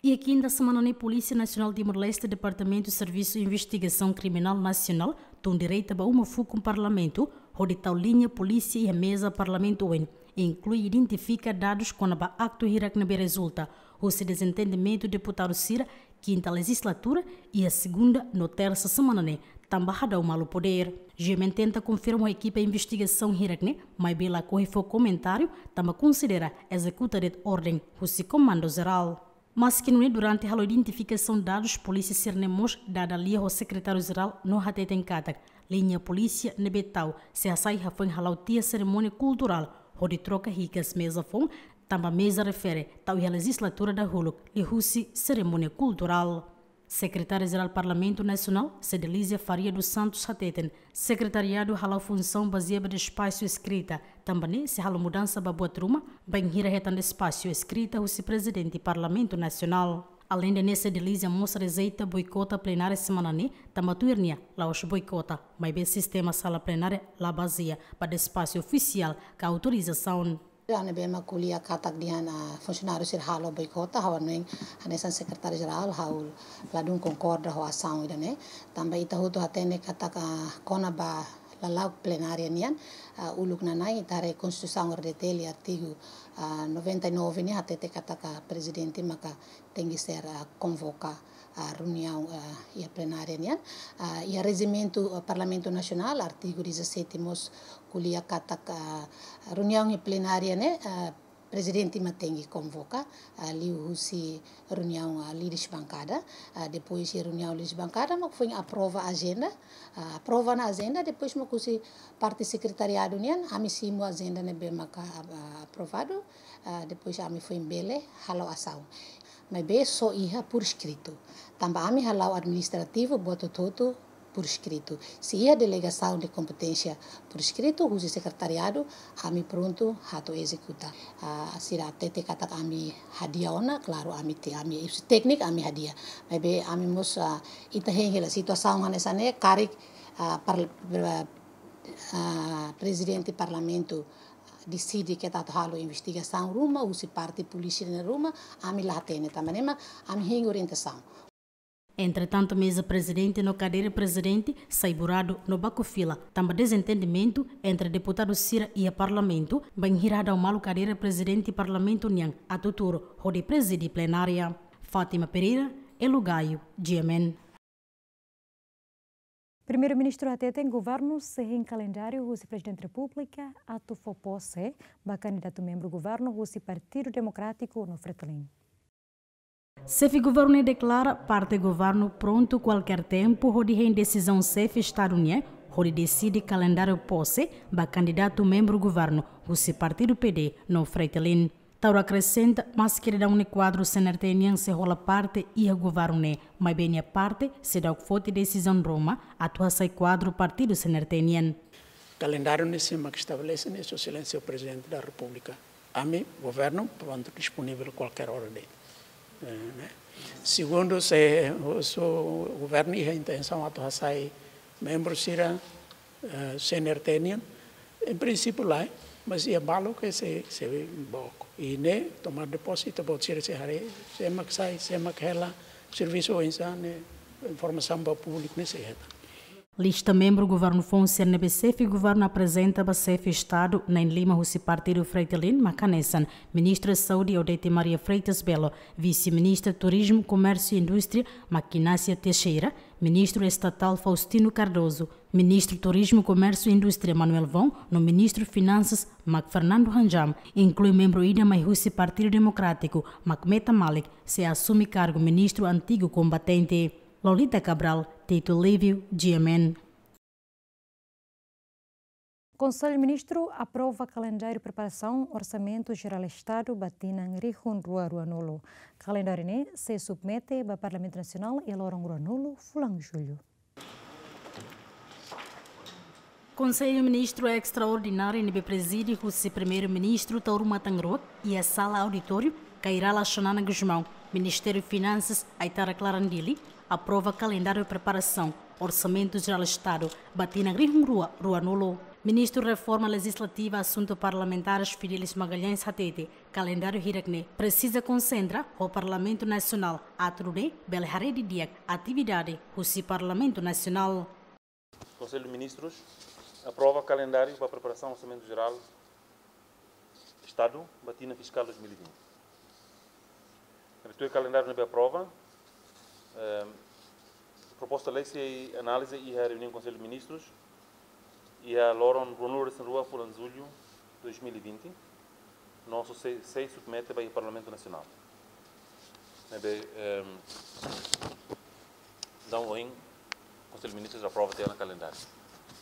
Iha kinta semana ne'e, Polísia Nasionál Timor-Leste, Departamentu Servisu Investigasaun Kriminál Nasionál, tun direta ba uma fukun Parlamentu, hodi tau liña polísia iha meza Parlamentu oin, inklui identifika dadus kona-ba aktu hirak ne'ebé rezulta husi dezentendimentu deputadu sira kinta lejizlatura, iha segunda no tersa semana ne'e, tanba hadau malu podér. GMN tenta konfirma ho ekipa investigasaun hirak ne'e, maibé lakohi fó komentáriu, tanba konsidera ezekuta de'it orden husi Komandu Jerál. Maski nune'e, durante halo identifikasaun dadus, polísia sira-ne'e mós dada lia ho Sekretáriu Jerál no hateten katak liña polísia ne'ebé tau sei hasai hafoin hala'o tiha serimónia kulturál hodi troka hikas meza foun, tanba meza refere tau iha lejizlatura dahuluk liuhusi serimónia kulturál. Sekretária-Jerál Parlamentu Nasionál, Cedelizia Faria dos Santos hateten, sekretariadu hala'o funsaun bazeia ba despaxu eskrita, tanba ne'e sei halo mudansa ba buat ruma, bainhira hetan despaxu eskrita husi Prezidente Parlamentu Nasionál. Aleinde ne'e, Cedelizia mós rejeita boikota plenária semana ne'e, tanba tuir nia la'ós boikota, maibé sistema sala plenária la bazeia ba despaxu ofisiál ka autorizasaun. Ida-ne'ebé mak ko'alia katak dehan, ah, funsionáriu sira halo boikota, ha'u hanoin hanesan sekretáriu-jerál, ha'u ladún konkorda ho asaun ida-ne'e. Tanba ita hotu hatene katak, ah, kona-ba lala'ok plenária nian, ah, uluk nanain ita haree Konstituisaun R D T nia artigu, ah, noventa e nove nian hatete katak, ah, prezidente maka tenke ser, ah, konvoka, ah, reuniaun, ah, iha plenária nian. Ah, iha rejimentu, ah, Parlamentu Nasionál, artigu dezassete mós ko'alia katak, ah, reuniaun iha plenária ne'e, ah, prezidente mak tenke konvoka, ah, liuhusi reuniaun, ah, líderes bankada. Ah, depois de reuniaun líderes bankada, mak foin aprova ajenda. Ah, aprova ona ajenda, depois mak husi parte sekretariadu nian, ami simu ajenda ne'ebé maka, ah, aprovadu. Ah, depois ami foin bele hala'o asaun. Maibé só iha por escrito. Tanba ami hala'o administrativu buat hotu-hotu por escrito. Se iha delegasaun de kompeténsia por escrito husi sekretariadu, ami prontu atu ezekuta. Ah, sira hatete katak ami hadi'a ona, klaru, ami te, ami husi tékniku ami hadi'a. Maibé ami mós, ah, ita hein hela situasaun hanesan ne'e, karik, ah, par-, ah, prezidente parlamentu deside katak atu halo investigasaun ruma, husi parte polísia nia ruma, ami la hatene, tanba ne'e mak ami hein orientasaun. Entretantu, meza prezidente no kadeira prezidente sai buradu no baku fila, tanba dezentendimentu entre deputadu sira iha parlamentu, bainhira hadau malu kadeira prezidente parlamentu nian atu tuur hodi prezide plenária. Fátima Pereira, Elo Gaio, G M N. Primeiru-Ministru hateten governu sei hein kalendáriu husi Prezidente Repúblika atu fó pose ba kandidatu membru governu husi Partidu Demokrátiku no Fretilin. Xefe governu deklara parte governu prontu kualkér tempu hodi hein desizaun xefe Estadu nian hodi deside kalendáriu pose ba kandidatu membru governu husi partidu P D no Fretilin. Taur akresenta, maske daudaun ne'e kuadru C N R T nian sei hola parte iha governu ne'e, maibé nia parte seidauk foti desizaun ruma atu hasai kuadru partidu C N R T nian. Kalendáriu ne'e sé mak estabelese ne'e, Sua Exelénsia Prezidente da Repúblika. Ami, governu, prontu, disponivel kualkér ora de'it. Eh, ne'e. Segundu, se, se governu iha intensaun atu hasai membru sira, eh, C N R T nian, em princípio lae, mas iha balu ke sei, sei book. I ne'e, tomada de posse, ita-boot sira sei haree, sé mak sai, sé mak hela, servisu oinsá ne'e, informasaun ba públiku ne'e sei hetan. Lista membru governu foun sira ne'ebé xefe governu aprezenta ba xefe Estadu na'in-lima husi partidu Fretilin mak hanesan Ministru Saúde Odete Maria Freitas Belo, Vise-Ministru Turizmu, Komérsiu i Indústria Maquinácia Teixeira, Ministru Estatál Faustino Cardoso, Ministru Turizmu, Komérsiu i Indústria Manuel Vong, no Ministru Finansas mak Fernando Hanjam, inklui membru ida mai husi Partidu Demokrátiku mak Meta Malik, sei asume kargu ministru antigu kombatente. Lolita Cabral, Tito Livio, G M N. Konsellu Ministru aprova kalendáriu preparasaun Orsamentu Jerál Estadu ba tinan rihun rua ruanulu. Kalendáriu ne'e sei submete ba Parlamentu Nasionál iha loron ruanulu fulan Jullu. Konsellu Ministru Estraordináriu ne'ebé prezide husi Primeiru-Ministru Taur Matan Ruak iha sala auditóriu Kay Rala Xanana Gusmão, Ministériu Finansas Aitara Klaran Dili, aprova kalendáriu preparasaun Orsamentu Jerál Estadu ba tinan rihun rua ruanulu. Ministru Reforma Lejizlativa Asuntu Parlamentares Fidelis Magalhães hatete, kalendáriu hirak-ne'e presiza konsentra ho Parlamentu Nasionál atu nune'e bele haree didi'ak atividade husi Parlamentu Nasionál. Konsellu Ministrus aprova kalendáriu ba preparasaun Orsamentu Jerál Estadu ba tinan fiskál dois mil e vinte. Tuir kalendáriu ne'ebé aprova, ehm, proposta lei sei analiza iha reuniaun Konsellu Ministrus iha loron ruanulu-resin-rua fulan Jullu dois mil e vinte. No sei, sei submete ba iha Parlamentu Nasionál. Ne'ebé, ehm, daudaun ohin Konsellu Ministrus aprova tiha ona kalendáriu.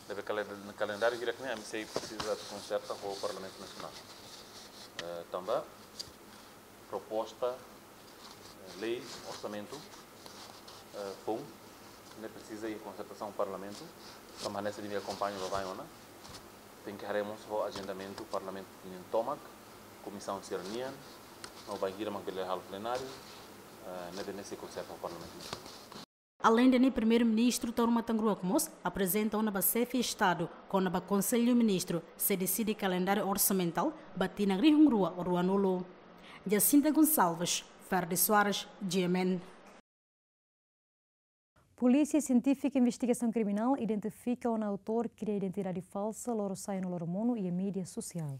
Ne'ebé kalen-, kalendáriu hirak-ne'e ami sei presiza konserta ho Parlamentu Nasionál. Eh, tanba proposta, eh, lei, orsamentu, Eh, foun, ne'e presiza iha konsertasaun Parlamentu, tanba hanesan imi akompaña ba bainhira ona. Tenke haree mós ho ajendamentu Parlamentu nian tomak, komisaun sira-nian, no bainhira mak bele halo plenáriu, eh, ne'ebé ne'e sei konserta ho Parlamentu. Aleinde ne'e, Primeiru-Ministru Taur Matan Ruak mós aprezenta ona ba Xefe Estadu kona-ba Konsellu Ministru sei deside kalendáriu orsamentál ba tinan rihun rua ruanulu. Jacinta Gonçalves, Ferdi Soares, G M N. Polísia Sientífika Investigasaun Kriminál identifika ona autór kria identidade falsa lorosa'e no loromonu iha média sosiál.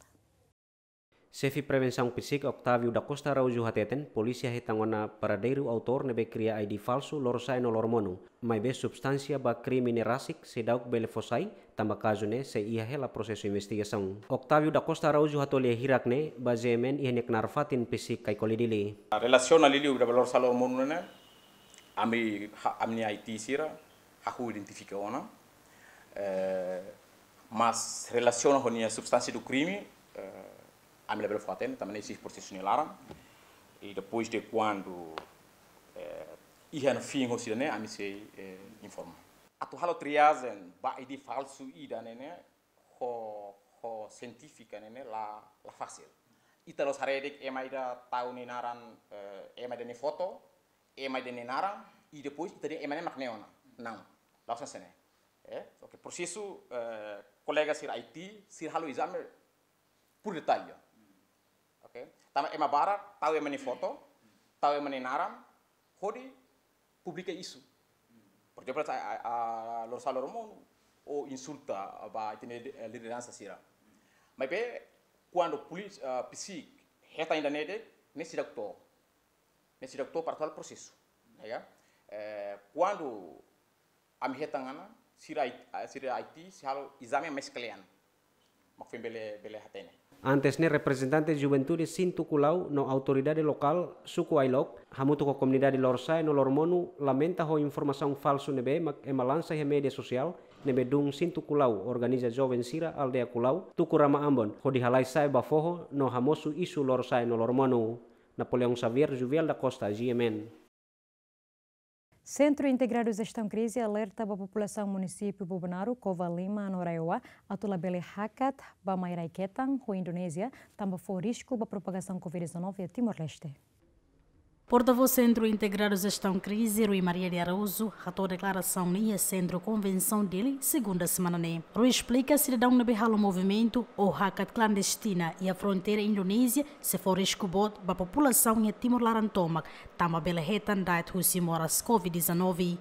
Xefe Prevensaun PCIC, Octávio da Costa Araújo hateten, polísia hetan ona paradeiru autór ne'ebé kria I D falsu lorosa'e no loromonu, maibé substánsia ba krime ne'e rasik seidauk bele fó sai, tanba kazu ne'e sei iha hela prosesu investigasaun. Octávio da Costa Araújo hato'o lia hirak ne'e ba G M N iha nia knaar fatin PCIC Caicoli, Dili. Relasiona liuliu ba lorosa'e loromonu ne'e, ami ha-, ami-nia I T sira hahú identifika ona. Eh, mas relasiona ho nia substánsia do crime, eh, ami labele fó-hatene, tanba ne'e iha prosesu nia laran. I depois de kuandu, eh, iha ona fin hosi ida-ne'e, ami sei, eh, informa. Atu halo triajen ba I D falsu ida-ne'e ne'e, ho, ho sientífika ne'e ne'e la, la fasil. Ita la'ós haree de'it ema ida tau nia naran, eh, ema ida nia foto, ema ida nia naran, i depois ita dehan ema ne'e mak ne'e ona. Não. La'ós hanesan ne'e. Eh, oke, prosesu, eh, kolega sira I T, sira halo ezame por detalle. Oke? Tanba ema barak tau ema nia foto, tau ema nia naran, hodi publika isu. Por ezemplu, a, a, a, lorosa'e loromonu, ou insulta ba ita-nia, eh, lideransa sira. Maibé, kuandu polísia, ah, PCIC hetan ida-ne'e de'it, ne'e seidauk to'o. Ne'e seidauk to'o para atu halo prosesu. Ya kan? Eh, kuandu ami hetan ona, sira I-, ah, sira I T sei halo ezame mais kle'an. Mak foin bele, bele hatene. Antes ne'e, reprezentante juventude Síntu Kulau no autoridade lokál suku Ailok, hamutuk ho komunidade lorosa'e no loromonu, lamenta ho informasaun falsu ne'ebé mak ema lansa iha média sosiál, ne'ebé dún Síntu Kulau organiza joven sira aldeia Kulau, tuku rama ambon, hodi halai sa'e ba foho no hamosu isu lorosa'e no loromonu. Napoleão Xavier, Juviel da Costa, G M N. Sentru Integradu Jestaun Krize alerta ba populasaun munisípiu Bobonaro, Covalima no RAEOA atu labele hakat ba mai rai-ketan ho Indonézia, tanba fó risku ba propagasaun covid dezanove iha Timor-Leste. Portavós Sentru Integradu Jestaun Krize, Rui Maria de Araújo, hato'o deklarasaun ne'e iha Sentru Konvensaun Dili, segunda semana ne'e. Rui esplika sidadaun ne'ebé halo movimentu ou hakat klandestina iha fronteira Indonézia sei fó risku boot ba populasaun iha Timor laran tomak, tanba bele hetan da'et husi moras covid dezanove.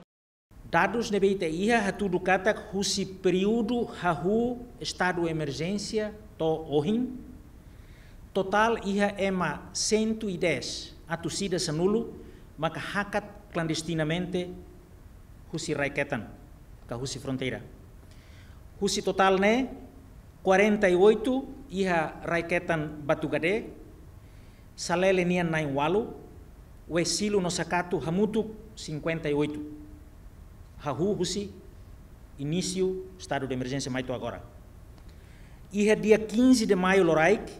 Dadus ne'ebé ita iha hatudu katak husi períodu hahú estadu emerjénsia to'o ohin, totál iha ema cento e dez, atus ida sanulu, maka hakat klandestinamente husi rai-ketan, ka husi fronteira. Husi totál ne'e, quarenta e oito iha rai-ketan Batugade, Salele nian na'in-ualu, Wesilu no Sakatu hamutuk cinquenta e oito. Hahú husi inísiu estadu de emerjénsia mai to'o agora. Iha dia quinze de maio loraik,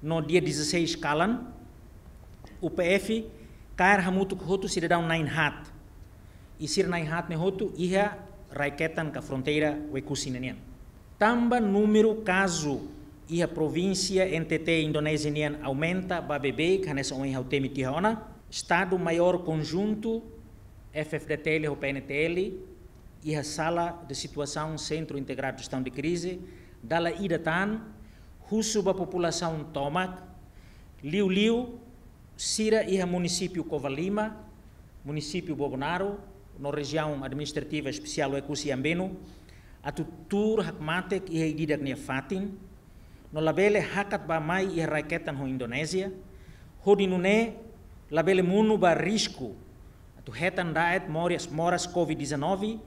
no dia dezasseis kalan, U P F kaer hamutuk hotu sidadaun na'in-haat. I sira na'in-haat ne'e hotu iha rai-ketan ka fronteira Oekusi ne'e nian. Tanba númeru kazu iha provínsia N T T Indonézia nian aumenta ba beibeik, hanesan ohin ha'u temi tiha ona, Estadu Maiór Konjuntu, F F D T L ho P N T L, iha Sala de Situasaun Sentru Integradu Jestaun de Krize, dala ida tan, husu ba populasaun tomak, liuliu sira iha munisípiu Covalima, munisípiu Bobonaro, no Rejiaun Administrativa Espesiál Oekusi Ambeno, atu tuur hakmatek iha ida-idak nia fatin, no labele hakat ba mai iha rai-ketan ho Indonézia, hodi nune'e labele monu ba risku atu hetan da'et moras, moras covid dezanove,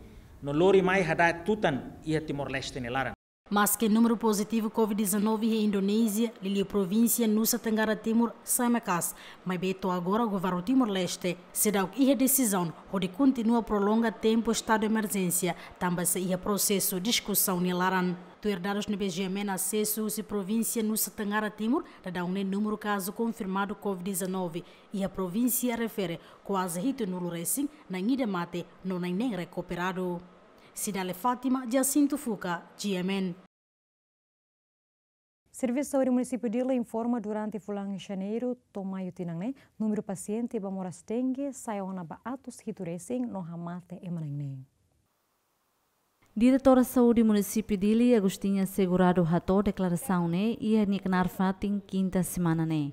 no lori mai hada'et tutan iha Timor-Leste nia laran. Maske númeru pozitivu covid dezanove iha Indonézia, liuliu provínsia Nusa Tenggara Timur, sai maka'as, maibé to'o agora governu Timor-Leste seidauk iha desizaun hodi kontinua prolonga tempu estadu emerjénsia, tanba sei iha prosesu diskusaun nia laran. Tuir dadus ne'ebé GMN asesu husi provínsia Nusa Tenggara Timur, daudaun ne'e númeru kazu konfirmadu COVID dezanove iha provínsia refere kuaze hitunulu resin na'in ida mate no na'in neen rekuperadu. Cidale Fátima, Jacinto Fuca, GMN. Servisu Saúde Munisípiu Dili informa durante fulan Janeiru to'o Maiu tinan ne'e, númeru pasiente ba moras dengue sa'e ona ba atus hitu resin no hamate ema na'in neen. Diretora Saúde Munisípiu Dili, Agostinha Segurado hato'o deklarasaun ne'e iha nia knaar fatin kinta semana ne'e.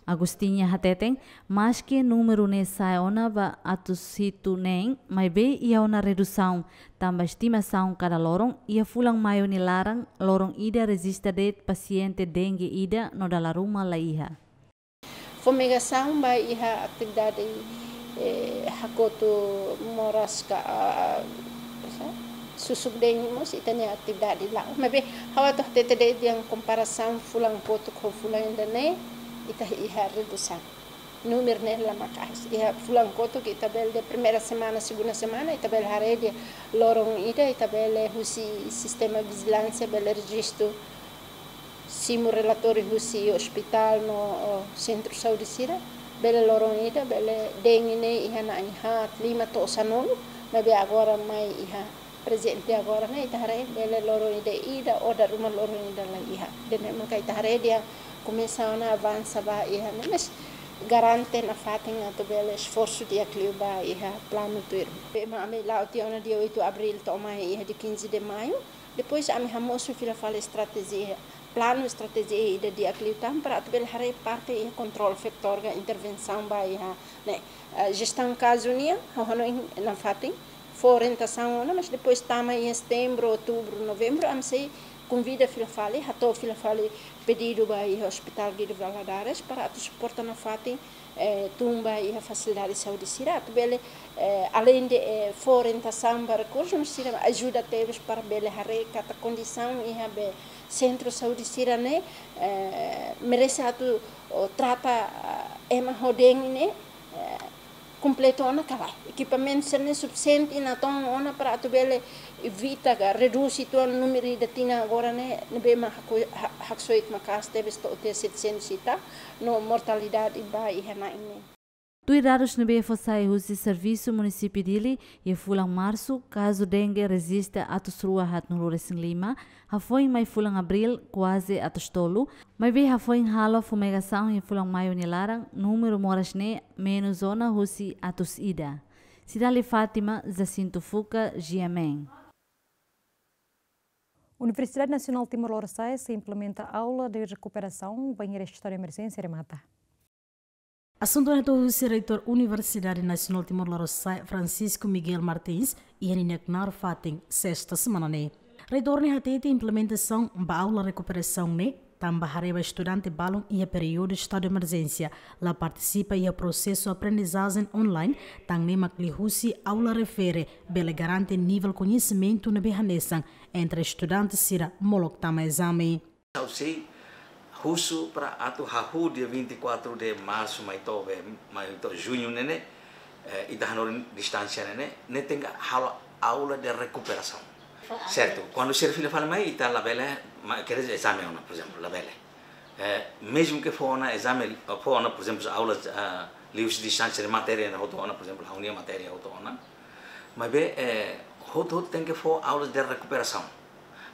Agostinha hateten, maske númeru ne'e sa'e ona ba atus hitu neen, maibé iha ona redusaun, tanba estimasaun kada loron, iha fulan Maiu nia laran, loron ida rejista de'it pasiente dengue ida no dala ruma la iha. Fumigasaun ba iha atividade, eh, hakotu moras ka, ah, susuk dengue mós ita-nia atividade la'o. Maibé ha'u atu hatete de'it dehan komparasaun fulan kotuk ho fulan ida-ne'e, ita iha redusaun. Númeru ne'e la maka'as. Iha fulan kotuk ita bele dehan primeira semana, segunda semana, ita bele haree dehan loron ida, ita bele husi sistema vijilánsia, bele rejistu simu relatóriu husi ospitál no, o, sentru saúde sira, bele loron ida, bele dengue ne'e iha na'in haat, lima to'o sanulu, maibé agora mai iha prezente agora ne'e, ita haree bele loron ida ida, ou dala ruma loron ida la iha. Ida-ne'e maka ita haree dehan komesa ona avansa ba iha ne'e, mas garante nafatin atu bele esforsu di'ak liu ba iha planu tuirmai. Be ma ami la'o tiha ona dia oito abríl to'o mai iha dia quinze de maio. Depois ami hamosu fila fali estratéjia, planu estratéjia ida di'ak liután para atu bele haree parte iha kontrolu vetór ka intervensaun ba iha ne'e, eh, jestaun kazu nian, ha'u hanoin nafatin fó orientasaun ona, mas depois tama iha setembru, outubru, novembru, ami sei konvida fila fali, hato'o fila fali pedidu ba iha Hospital Guido Valadares para atu suporta nafatin, eh, tun ba iha fasilidade saúde sira, atu bele, eh, aleinde, eh, fó orientasaun ba rekursu, mas sira ajuda tebes para bele haree katak kondisaun iha be sentru saúde sira-ne'e, eh, merese atu, o, trata, ah, ema ho dengue ne'e, eh, kompletu ona ka lae. Ekipamentu sira-ne'e sufisiente natoon ona para atu bele evita ka redús uitoan númeru ida tinan agora ne'e, ne'ebé mak haku-, ha-, haksoit maka'as tebes to'o tiha setecentos e tal, no mortalidade ba iha na'in neen. Tuir dadus ne'ebé fó sai husi Servisu Munisípiu Dili, iha fulan Marsu, kazu dengue rejista atus rua haatnulu resin lima, hafoin mai fulan Abríl, kuaze atus tolu, maibé hafoin halo fumigasaun iha fulan Maiu nia laran, númeru moras ne'e menus ona husi atus ida. Cidale Fátima, Jacinto Fuca, GMN. Universidade Nasionál Timor Lorosa'e sei implementa aula de rekuperasaun bainhira estadu de emerjénsia remata. Asuntu ne'e hato'o husi Reitór Universidade Nasionál Timor Lorosa'e, Francisco Miguel Martins, iha ninia knaar fatin sesta semana ne'e. Reitór ne'e hatete implementasaun ba aula rekuperasaun ne'e tanba haree ba estudante balun iha períodu estadu de emerjénsia, la partisipa iha prosesu aprendizajen online, tan ne'e mak liuhusi aula refere bele garante nivel koñesimentu ne'ebé hanesan entre estudante sira molok tama ezame. Ha'u sei husu para atu hahú dia vinte e quatro de março mai to'o be, mai to'o juñu ne'e ne'e, eh, ita hanorin distánsia ne'e ne'e, ne'e tenke halo aula de rekuperasaun. Sertu? Kuandu sira fila fali mai, ita labele, ma-, quer dizer, ezame ona, por ezemplu, labele. Eh, mezmu ke fó ona ezame, fó ona, por ezemplu, aula, ah, liuhusi distánsia de matéria ne'e hotu ona, por ezemplu, ha'u-nia matéria hotu ona. Maibé, eh, hotu-hotu tenke fó aula de rekuperasaun.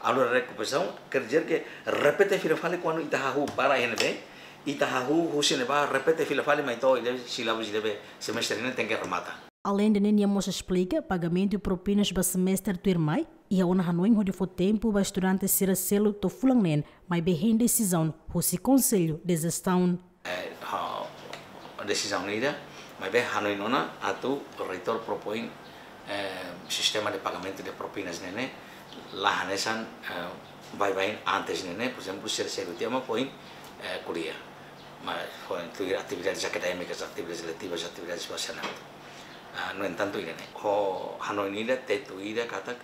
Aula de rekuperasaun, quer dizer ke repete fila fali kuandu ita hahú para iha ne'ebé, ita hahú husi ne'ebá, repete fila fali mai to'o ida sílabus ida be semestre ne'e tenke remata. Aleinde ne'e nia mós esplika, pagamentu propinas ba semestre tuirmai, iha ona hanoin hodi fó tempu ba estudante sira selu to'o fulan neen, maibé hein desizaun husi Konsellu de Jestaun. Eh, ha, desizaun ida, maibé hanoin ona atu reitór propoin, eh, sistema de pagamentu de propinas ne'e ne'e, la hanesan, eh, baibain antes ne'e ne'e, por ezemplu, sira selu tiha mak foin, eh, ko'alia. Mas foin tuir atividades akadémikas, atividades letivas, atividades ba sira-ne'e. Ah, no entantu, ida-ne'e. Ho hanoin ida, tetu ida, katak,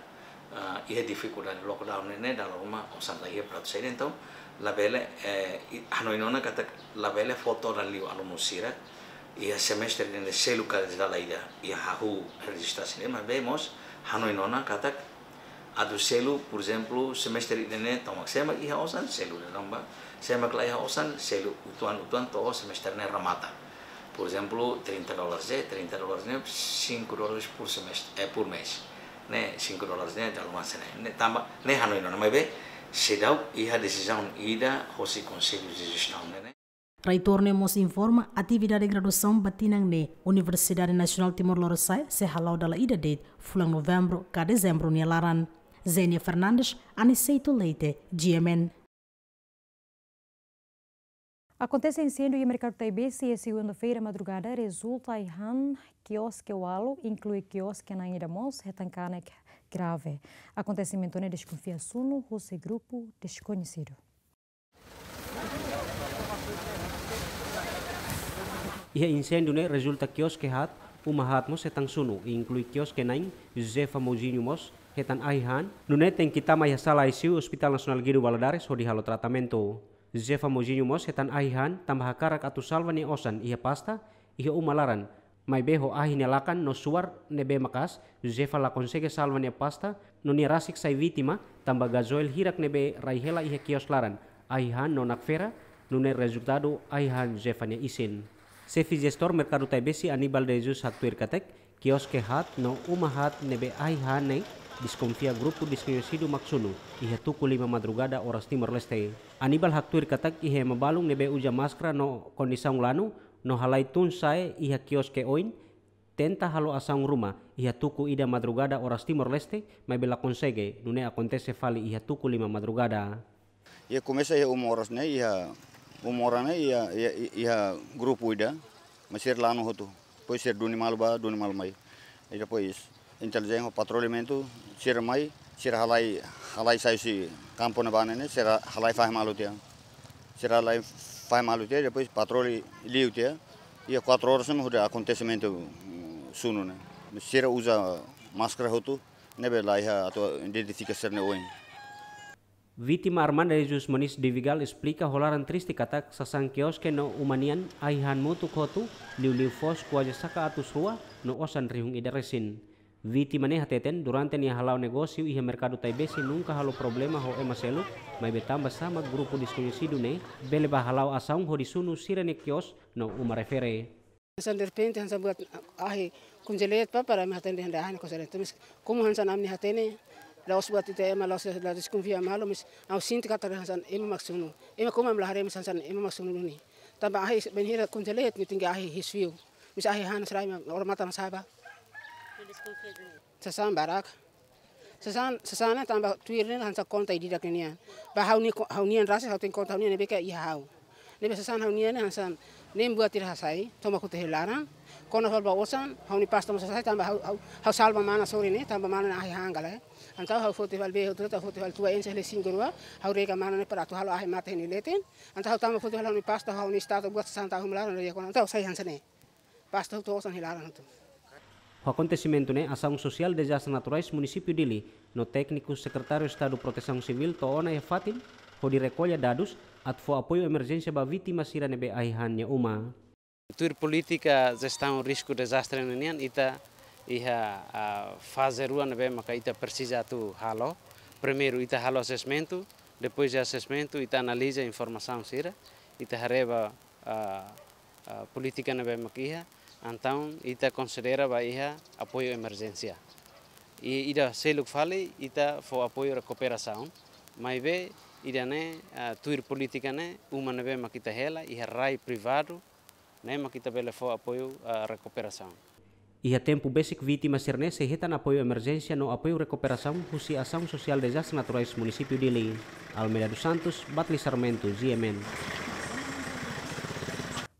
ah, iha difikuldade lockdown ne'e ne'e, dala ruma osan la iha para atu saida, entaun, labele, eh, i-, hanoin ona katak labele fó todan liu alunu sira, iha semestre ne'e ne'e selu ka dala ida, iha hahú rejista sira, maibé mós hanoin ona katak, Atu selu, por ezemplu, semestre ida-ne'e, tomak sé mak iha osan, selu de'it tanba, sé mak la iha osan, selu uitoan-uitoan to'o semestre ne'e remata. Por ezemplu, trinta dólares, eh, trinta dólares ne'e, cinco dólares por semestre, eh, por mês. Ne'e, cinco dólares ne'e, dala ruma hanesan ne'e. Ne'e tanba, ne'e hanoin ona, maibé, seidauk iha desizaun ida, hosi Konsellu de Jestaun ne'e. Reitór ne'e mós informa atividade graduasaun ba tinan ne'e Universidade Nasionál Timor Lorosa'e sei hala'o dala ida de'it, fulan Novembru ka Dezembru nia laran. Zenia Fernandes, Aniceto Leite, G M N. Akontese inséndiu iha Merkadu Taibesi iha segunda-feira madrugada, rezulta ai-han kioske ualu, inklui kioske na'in ida mós hetan kanek grave. Akontesimentu ne'e deskonfia sunu husi grupu deskoñesidu. Iha inséndiu ne'e rezulta kioske haat, uma haat mós hetan sunu, inklui kioske na'in, Josefa Mouzinho mós hetan ai-han, nune'e tenke tama iha sala I C U Hospital Nasionál Guido Valadares hodi halo tratamentu. Josefa Mouzinho mós hetan ai-han, tanba hakarak atu salva nia osan iha pasta, iha uma laran. Maibé ho ahi nia lakan no suar ne'ebé maka'as, Josefa la konsege salva nia pasta, no nia rasik sai vítima, tanba gazoil hirak ne'ebé rai hela iha kios laran, ai-han no nakfera, nune'e rezultadu ai-han Josefa nia isin. Xefe Jestór Merkadu Taibesi Aníbal de Jesus haktuir katak, kioske haat no uma haat ne'ebé ai-han ne'e deskonfia grupu deskoñesidu mak sunu, iha tuku lima madrugada oras Timor-Leste. Aníbal haktuir katak iha ema balun ne'ebé uza máskara no kondisaun lanu, no halai tun sa'e iha kioske oin, tenta halo asaun ruma iha tuku ida madrugada oras Timor-Leste, maibé la konsege, nune'e akontese fali iha tuku lima madrugada. Iha komesa iha uma oras ne'e, iha uma oras ne'e, iha, iha, iha grupu ida, mas sira lanu hotu. Depois sira duni malu bá, duni malu mai. I depois intelijénsia patrulhamentu, sira mai, sira halai, halai sai husi kampu ne'ebá ne'e, sira halai fahe malu tiha. Sira halai fahe malu tiha, depois patroli liu tiha. Iha quatro horas ne'e, hodi akontesimentu, mm, sunu ne'e. Sira uza máskara hotu, ne'ebé la iha atu identifika sira-nia oin. Vítima Armanda Jesus Moniz de Vigal esplika ho laran triste katak sasán kioske no uma nian ai-han motuk hotu, liuliu foos kuaze saka atus rua no osan rihun ida resin. Vítima ne'e hateten durante nia hala'o negósiu iha Merkadu Taibesi nunka halo problema ho ema seluk, maibé tanba sá mak grupu deskoñesidu ne'e bele bá hala'o asaun hodi sunu sira-nia kios no uma refere. Hanesan derrepente, hanesan buat ahi konjela tiha para ami hatene dehan ahi konjela. Mas komu hanesan ami hatene, la'ós buat ita ema, la'ós, la deskonfia malu, mas ha'u sente katak hanesan ema mak sunu. Ema komu ami la haree, mas hanesan ema mak sunu duni. Tanba ahi bainhira konjela, nia tenke ahi his fiu. Mas ahi han sira ema, ora mata na saba. Sasán barak. Sasán, sasán ne'e tanba tuir ne'e hanesan konta ida-idak ninian. Ba ha'u-nia ko-, ha'u-nian rasik, ha'u tenke konta ha'u-nian ne'ebé ke iha ha'u. Ne'ebé sasán ha'u-nian ne'e hanesan ne'e buat ida hasai, tomak hotu iha laran. Kona fali ba osan, ha'u-nia pasta mós hasai tanba ha'u, ha'u, ha'u salva mana sorin ne'e, tanba mana ne'e ahi han gale. Entaun ha'u foti fali be, ha'u tuta foti fali tua ense le singurua, ha'u rega mana ne'e para atu halo ahi mate nia leten. Entaun ha'u tama foti fali ha'u-nia pasta, ha'u-nia estátua buat sasán tau ha'u-nia laran, rega kona. Entaun sai hanesan ne'e. Pasta hotu osan iha laran hotu. Ho akontesimentu ne'e, Asaun Sosiál Dezastre Naturais Munisípiu Dili no tékniku Sekretáriu Estadu Protesaun Sivíl to'o ona iha fatin, hodi rekolla dadus, atu fó apoiu emerjénsia ba vítima sira ne'ebé ai-han nia uma. Tuir polítika jestaun risku dezastre ninian, ita iha, ah, faze rua ne'ebé maka ita presiza atu halo. Primeiru, ita halo asesmentu, depois de asesmentu, ita analiza informasaun sira, ita haree ba ah, ah, polítika ne'ebé mak iha, entaun ita konsidera ba iha apoiu emerjénsia. I ida seluk fali ita fó apoiu rekuperasaun, maibé ida-ne'e, ah, tuir polítika ne'e, uma ne'ebé mak ita hela, iha rai privadu, ne'e mak ita bele fó apoiu, ah, rekuperasaun. Iha tempu besik vítima sira-ne'e sei hetan apoiu emerjénsia no apoiu rekuperasaun husi Asaun Sosiál Dezastre Naturais Munisípiu Dili. Almeida dos Santos, Batli Sarmento, G M N.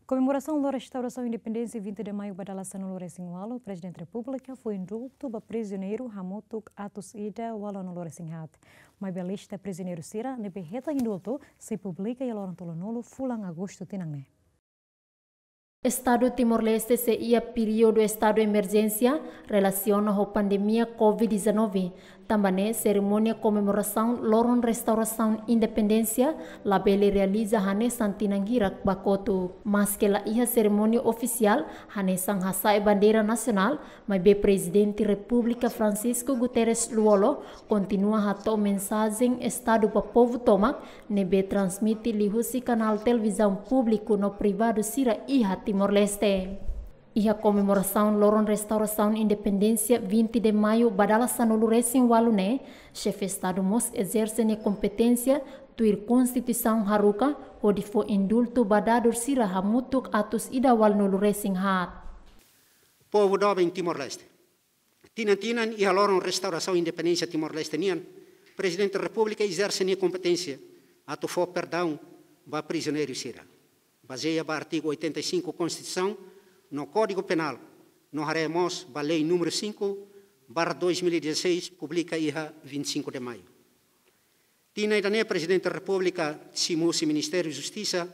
Komemorasaun Lori Restaurasaun Independénsia vinte de Maio ba dala sanulu-resin-ualu, Prezidente Repúblika fó indultu ba prizioneiru hamutuk atus ida ualunulu-resin-haat. Maibé lista prizioneiru sira ne'ebé hetan indultu sei publika iha loron tolunulu fulan Agostu tinan ne'e. Estadu Timor-Leste sei iha períodu estadu emerjénsia relasiona ho pandemia covid dezanove, Tanba ne'e, serimónia komemorasaun loron restaurasaun independénsia labele realiza hanesan tinan hirak ba kotuk. Maske la iha serimónia ofisiál hanesan hasa'e bandeira nasionál, maibé Prezidente Repúblika Francisco Guterres Lú-Olo kontinua hato'o mensajen Estadu ba povu tomak, ne'ebé transmite liuhusi kanál televizaun públiku no privadu sira iha Timor-Leste. Iha komemorasaun loron restaurasaun independénsia vinte de Maio ba dala sanulu-resin-ualu ne'e, Xefe Estadu mós ezerse nia kompeténsia tuir Konstituisaun haruka, hodi fó indultu ba dadur sira hamutuk atus ida ualunulu-resin haat. Povu doben Timor-Leste. Tinan-tinan iha loron restaurasaun independénsia Timor-Leste nian, Prezidente Repúblika ezerse nia kompeténsia atu fó perdaun ba prizioneiru sira. Bazeia ba artigu oitenta e cinco Konstituisaun no Kódigu Penál, no haree mós ba lei númeru cinco barra dois mil e dezasseis, publika iha vinte e cinco de Maio. Tinan ida-ne'e Prezidente Repúblika simu husi Ministériu Justisa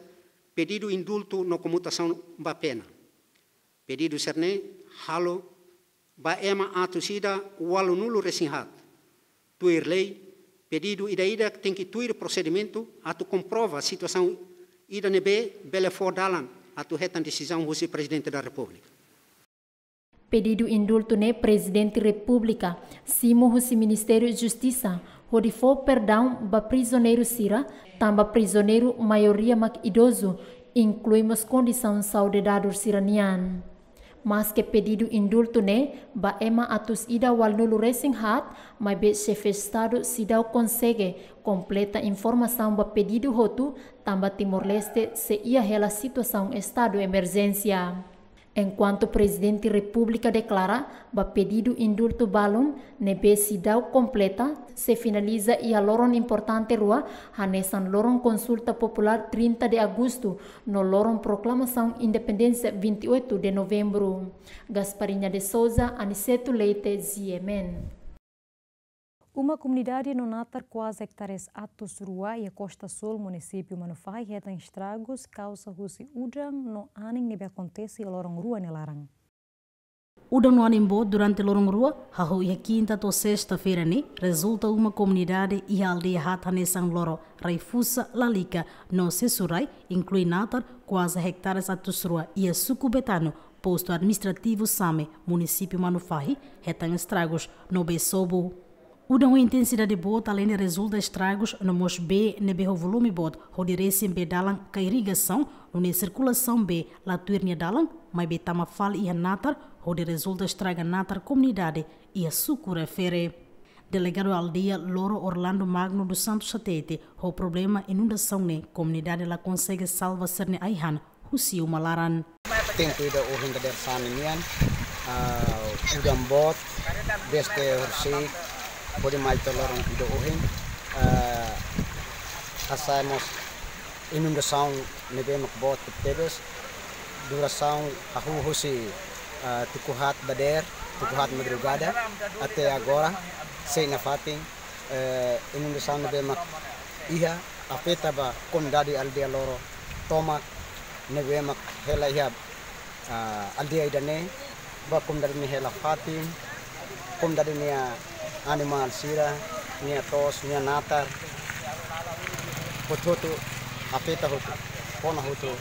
pedidu indultu no komutasaun ba pena. Pedidu sira-ne'e halo ba ema atus ida ualunulu-resin haat. Tuir lei, pedidu ida-idak tenke tuir prosedimentu atu komprova situasaun ida ne'ebé bele fó dalan atu hetan desizaun husi Prezidente da Repúblika. Pedidu indultu ne'e Prezidente Repúblika simu husi Ministériu Justisa hodi fó perdaun ba prizioneiru sira, tanba prizioneiru maioria mak idozu, inklui mós kondisaun saúde dadur sira nian. Maske pedidu indultu ne'e ba ema atus ida ualunulu-resin haat, maibé Xefe Estadu seidauk konsege kompleta informasaun ba pedidu hotu, tanba Timor-Leste sei iha hela situasaun estadu emerjénsia. Enkuantu Prezidente Repúblika deklara ba pedidu indultu balun ne'ebé seidauk kompleta, sei finaliza iha loron importante rua, hanesan loron konsulta populár trinta de agostu, no loron proklamasaun independénsia vinte e oito de novembro. Gasparinha de Souza, Aniceto Leite, G M N. Uma komunidade no natar kuaze ektares atus rua iha Costa Sul, munisípiu Manufahi, hetan estragus kauza husi udan no anin ne'ebé akontese iha loron rua nia laran. Udan no anin boot durante loron rua, hahú iha kinta to'o sesta-feira ne'e, rezulta uma komunidade iha aldeia haat hanesan Loro, Raifusa, Lalika no Sesurai, inklui natar kuaze ektares atus rua iha suku Betano, postu administrativu Same, munisípiu Manufahi, hetan estragus no bee sobu. Udan ho intensidade boot aleinde rezulta estragus no mós bee ne'ebé ho volume boot hodi resin bee dalan ka irrigasaun, nune'e sirkulasaun bee la tuir nia dalan, maibé tama fali iha natar hodi rezulta estraga natar komunidade iha suku refere. Delegadu aldeia Loro, Orlando Magno dos Santos, hatete, ho problema inundasaun ne'e komunidade la konsege salva sira-nia ai-han husi uma laran. Tempu ida ohin dadeer-saan nian, ah, udan boot, desde horisehik hodi mai to'o loron ida ohin, ah, hasa'e mós inundasaun ne'ebé mak boot tebes, durasaun hahú husi, ah, tuku haat dadeer, tuku haat madrugada, até agora, sei nafatin, eh, inundasaun ne'ebé mak iha, afeta ba komunidade aldeia Loro tomak ne'ebé mak hela iha, ah, aldeia ida-ne'e, ba komunidade nia hela-fatin, komunidade nia animál sira, nia to'os, nia natar, hotu-hotu afeta hotu, kona hotu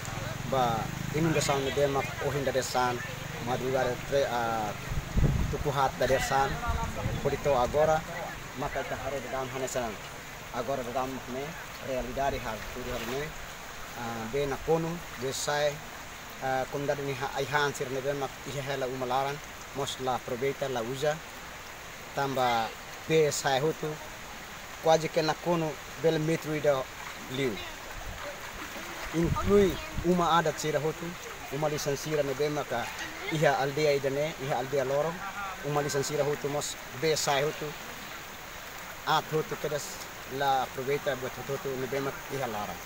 ba inundasaun ne'ebé mak ohin dadeer-saan, madrugada tre-, ah, tuku haat dadeer-saan, hodi to'o agora, maka ita haree daudaun hanesan agora daudaun mak ne'e, realidade hal, tudu hal ne'e, ah, bee nakonu, bee sa'e, ah, komunidade nia ai-han sira ne'ebé mak iha hela uma laran, mós la aproveita, la uza, tanba bee sa'e hotu, kuaze ke nakonu bele metru ida liu. Inklui uma adat sira hotu, uma lisan sira ne'ebé maka iha aldeia ida-ne'e, iha aldeia Loro, uma lisan sira hotu mós bee sa'e hotu, aat hotu kedas la aproveita buat hotu-hotu ne'ebé mak iha laran.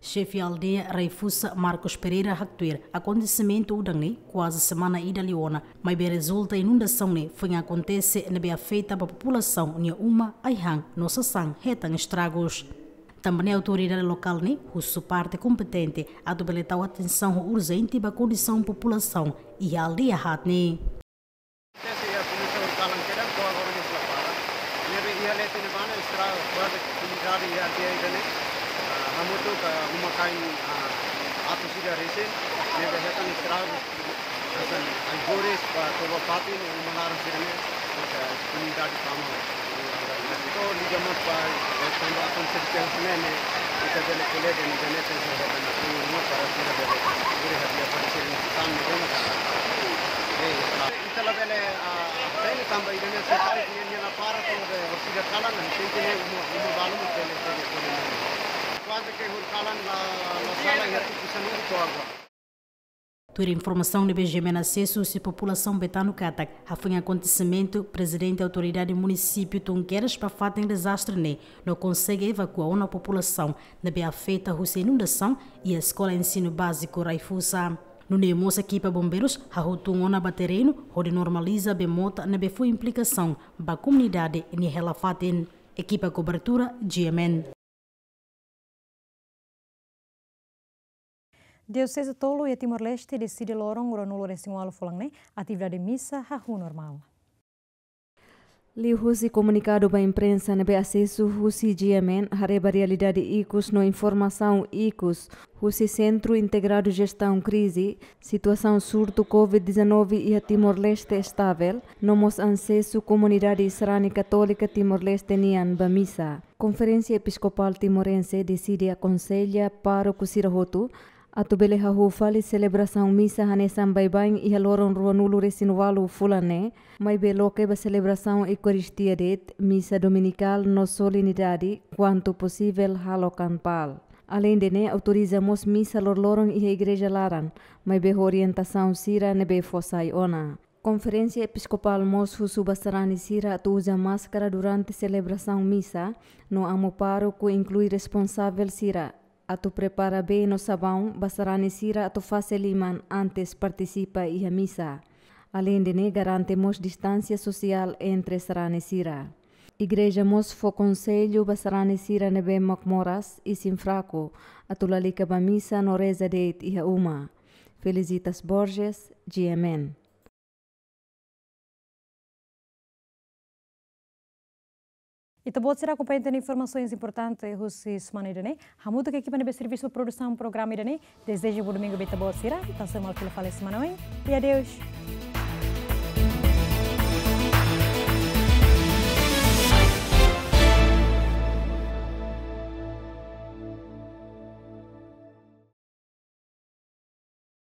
Xefe aldeia Raifusa, Marcos Pereira, haktuir, akontesimentu udan ne'e kuaze semana ida liu ona, maibé rezulta inundasaun ne'e foin akontese ne'ebé afeta ba populasaun nia uma, ai-han no sasán hetan estragus. Tanba ne'e autoridade lokál ne'e husu parte kompetente atu bele tau atensaun urjente ba kondisaun populasaun iha aldeia haat ne'e. Ese ya comenzó el calan queda, toda hora nos la para. Y Komunidade iha área ida-ne'e, ah, hamutuk, ah, uma-kain, ah, atus ida resin, ne'ebé hetan estragu, hanesan ai-bolis ba toba-fatin, uma laran sira-ne'e, maka komunidade tama. Entaun, liga mós ba, eh, tanba akontese ne'e, ne'e, ita bele ko'alia de'it, ne'e, ne'e, ne'e, ne'e, ne'e, ne'e, para sira bele, bele hadi'a para sira ne'e, tan ne'e, ne'e, ne'e, eh, ita labele, ah, tene tanba ida-ne'e, se para, ne'e, ne'e, la para, to'o be, orsida kalan, ne'e, tente ne'e, uma, uma balu, ne'e, bele, bele, bele, ne'e. Kuaze ke hori kalan la, la sala, iha tuku sanulu to'o agora. Tuir informasaun ne'ebé GMN asesu husi populasaun Betano katak, hafoin akontesimentu, Prezidente Autoridade Munisípiu tun kedas ba fatin dezastre ne'e, no konsege evakua ona populasaun ne'ebé afeta husi inundasaun iha Eskola Ensinu Báziku Raifusa. Nune'e mós ekipa bombeirus hahú tun ona ba terrenu, hodi normaliza bee mota ne'ebé fó implikasaun ba komunidade nia hela fatin. Ekipa kobertura, GMN. Dioseze tolu iha Timor-Leste deside loron ruanulu-resin-ualu fulan ne'e, atividade misa hahú normál. Liuhusi komunikadu ba imprensa ne'ebé asesu husi GMN, haree ba realidade ikus no informasaun ikus husi Sentru Integradu Jestaun Krize, situasaun surtu COVID dezanove iha Timor-Leste estavel, no mós asesu komunidade sarani katólika Timor-Leste nian ba misa. Konferénsia Episkopál Timorense deside akonsella pároku sira hotu atu bele hahú fali selebrasaun misa hanesan baibain iha loron ruanulu-resin-ualu fulan ne'e, maibé loke ba selebrasaun Eukaristia de'it, misa dominikál no solenidade, kuantu posivel halo kampál. Aleinde ne'e, autoriza mós misa loroloron iha igreja laran, maibé ho orientasaun sira ne'ebé fó sai ona. Konferénsia Episkopál mós husu ba sarani sira atu uza máskara durante selebrasaun misa, no amu pároku inklui responsavel sira atu prepara bee no sabaun ba sarani sira atu fase liman antes partisipa iha misa. Aleinde ne'e, garante mós distánsia sosiál entre sarani sira. Igreja mós fó konsellu ba sarani sira ne'ebé mak moras isin fraku atu lalika ba misa no reza de'it iha uma. Felicitas Borges, GMN. Ita-boot sira akompaña tiha ona informasaun importante husi semana ida-ne'e. Hamutuk ho ekipa ne'ebé servisu produsaun programa ida-ne'e, dezeja bom domingu ba ita-boot sira. Ita sei hasoru malu fila fali semana oin. E adeus.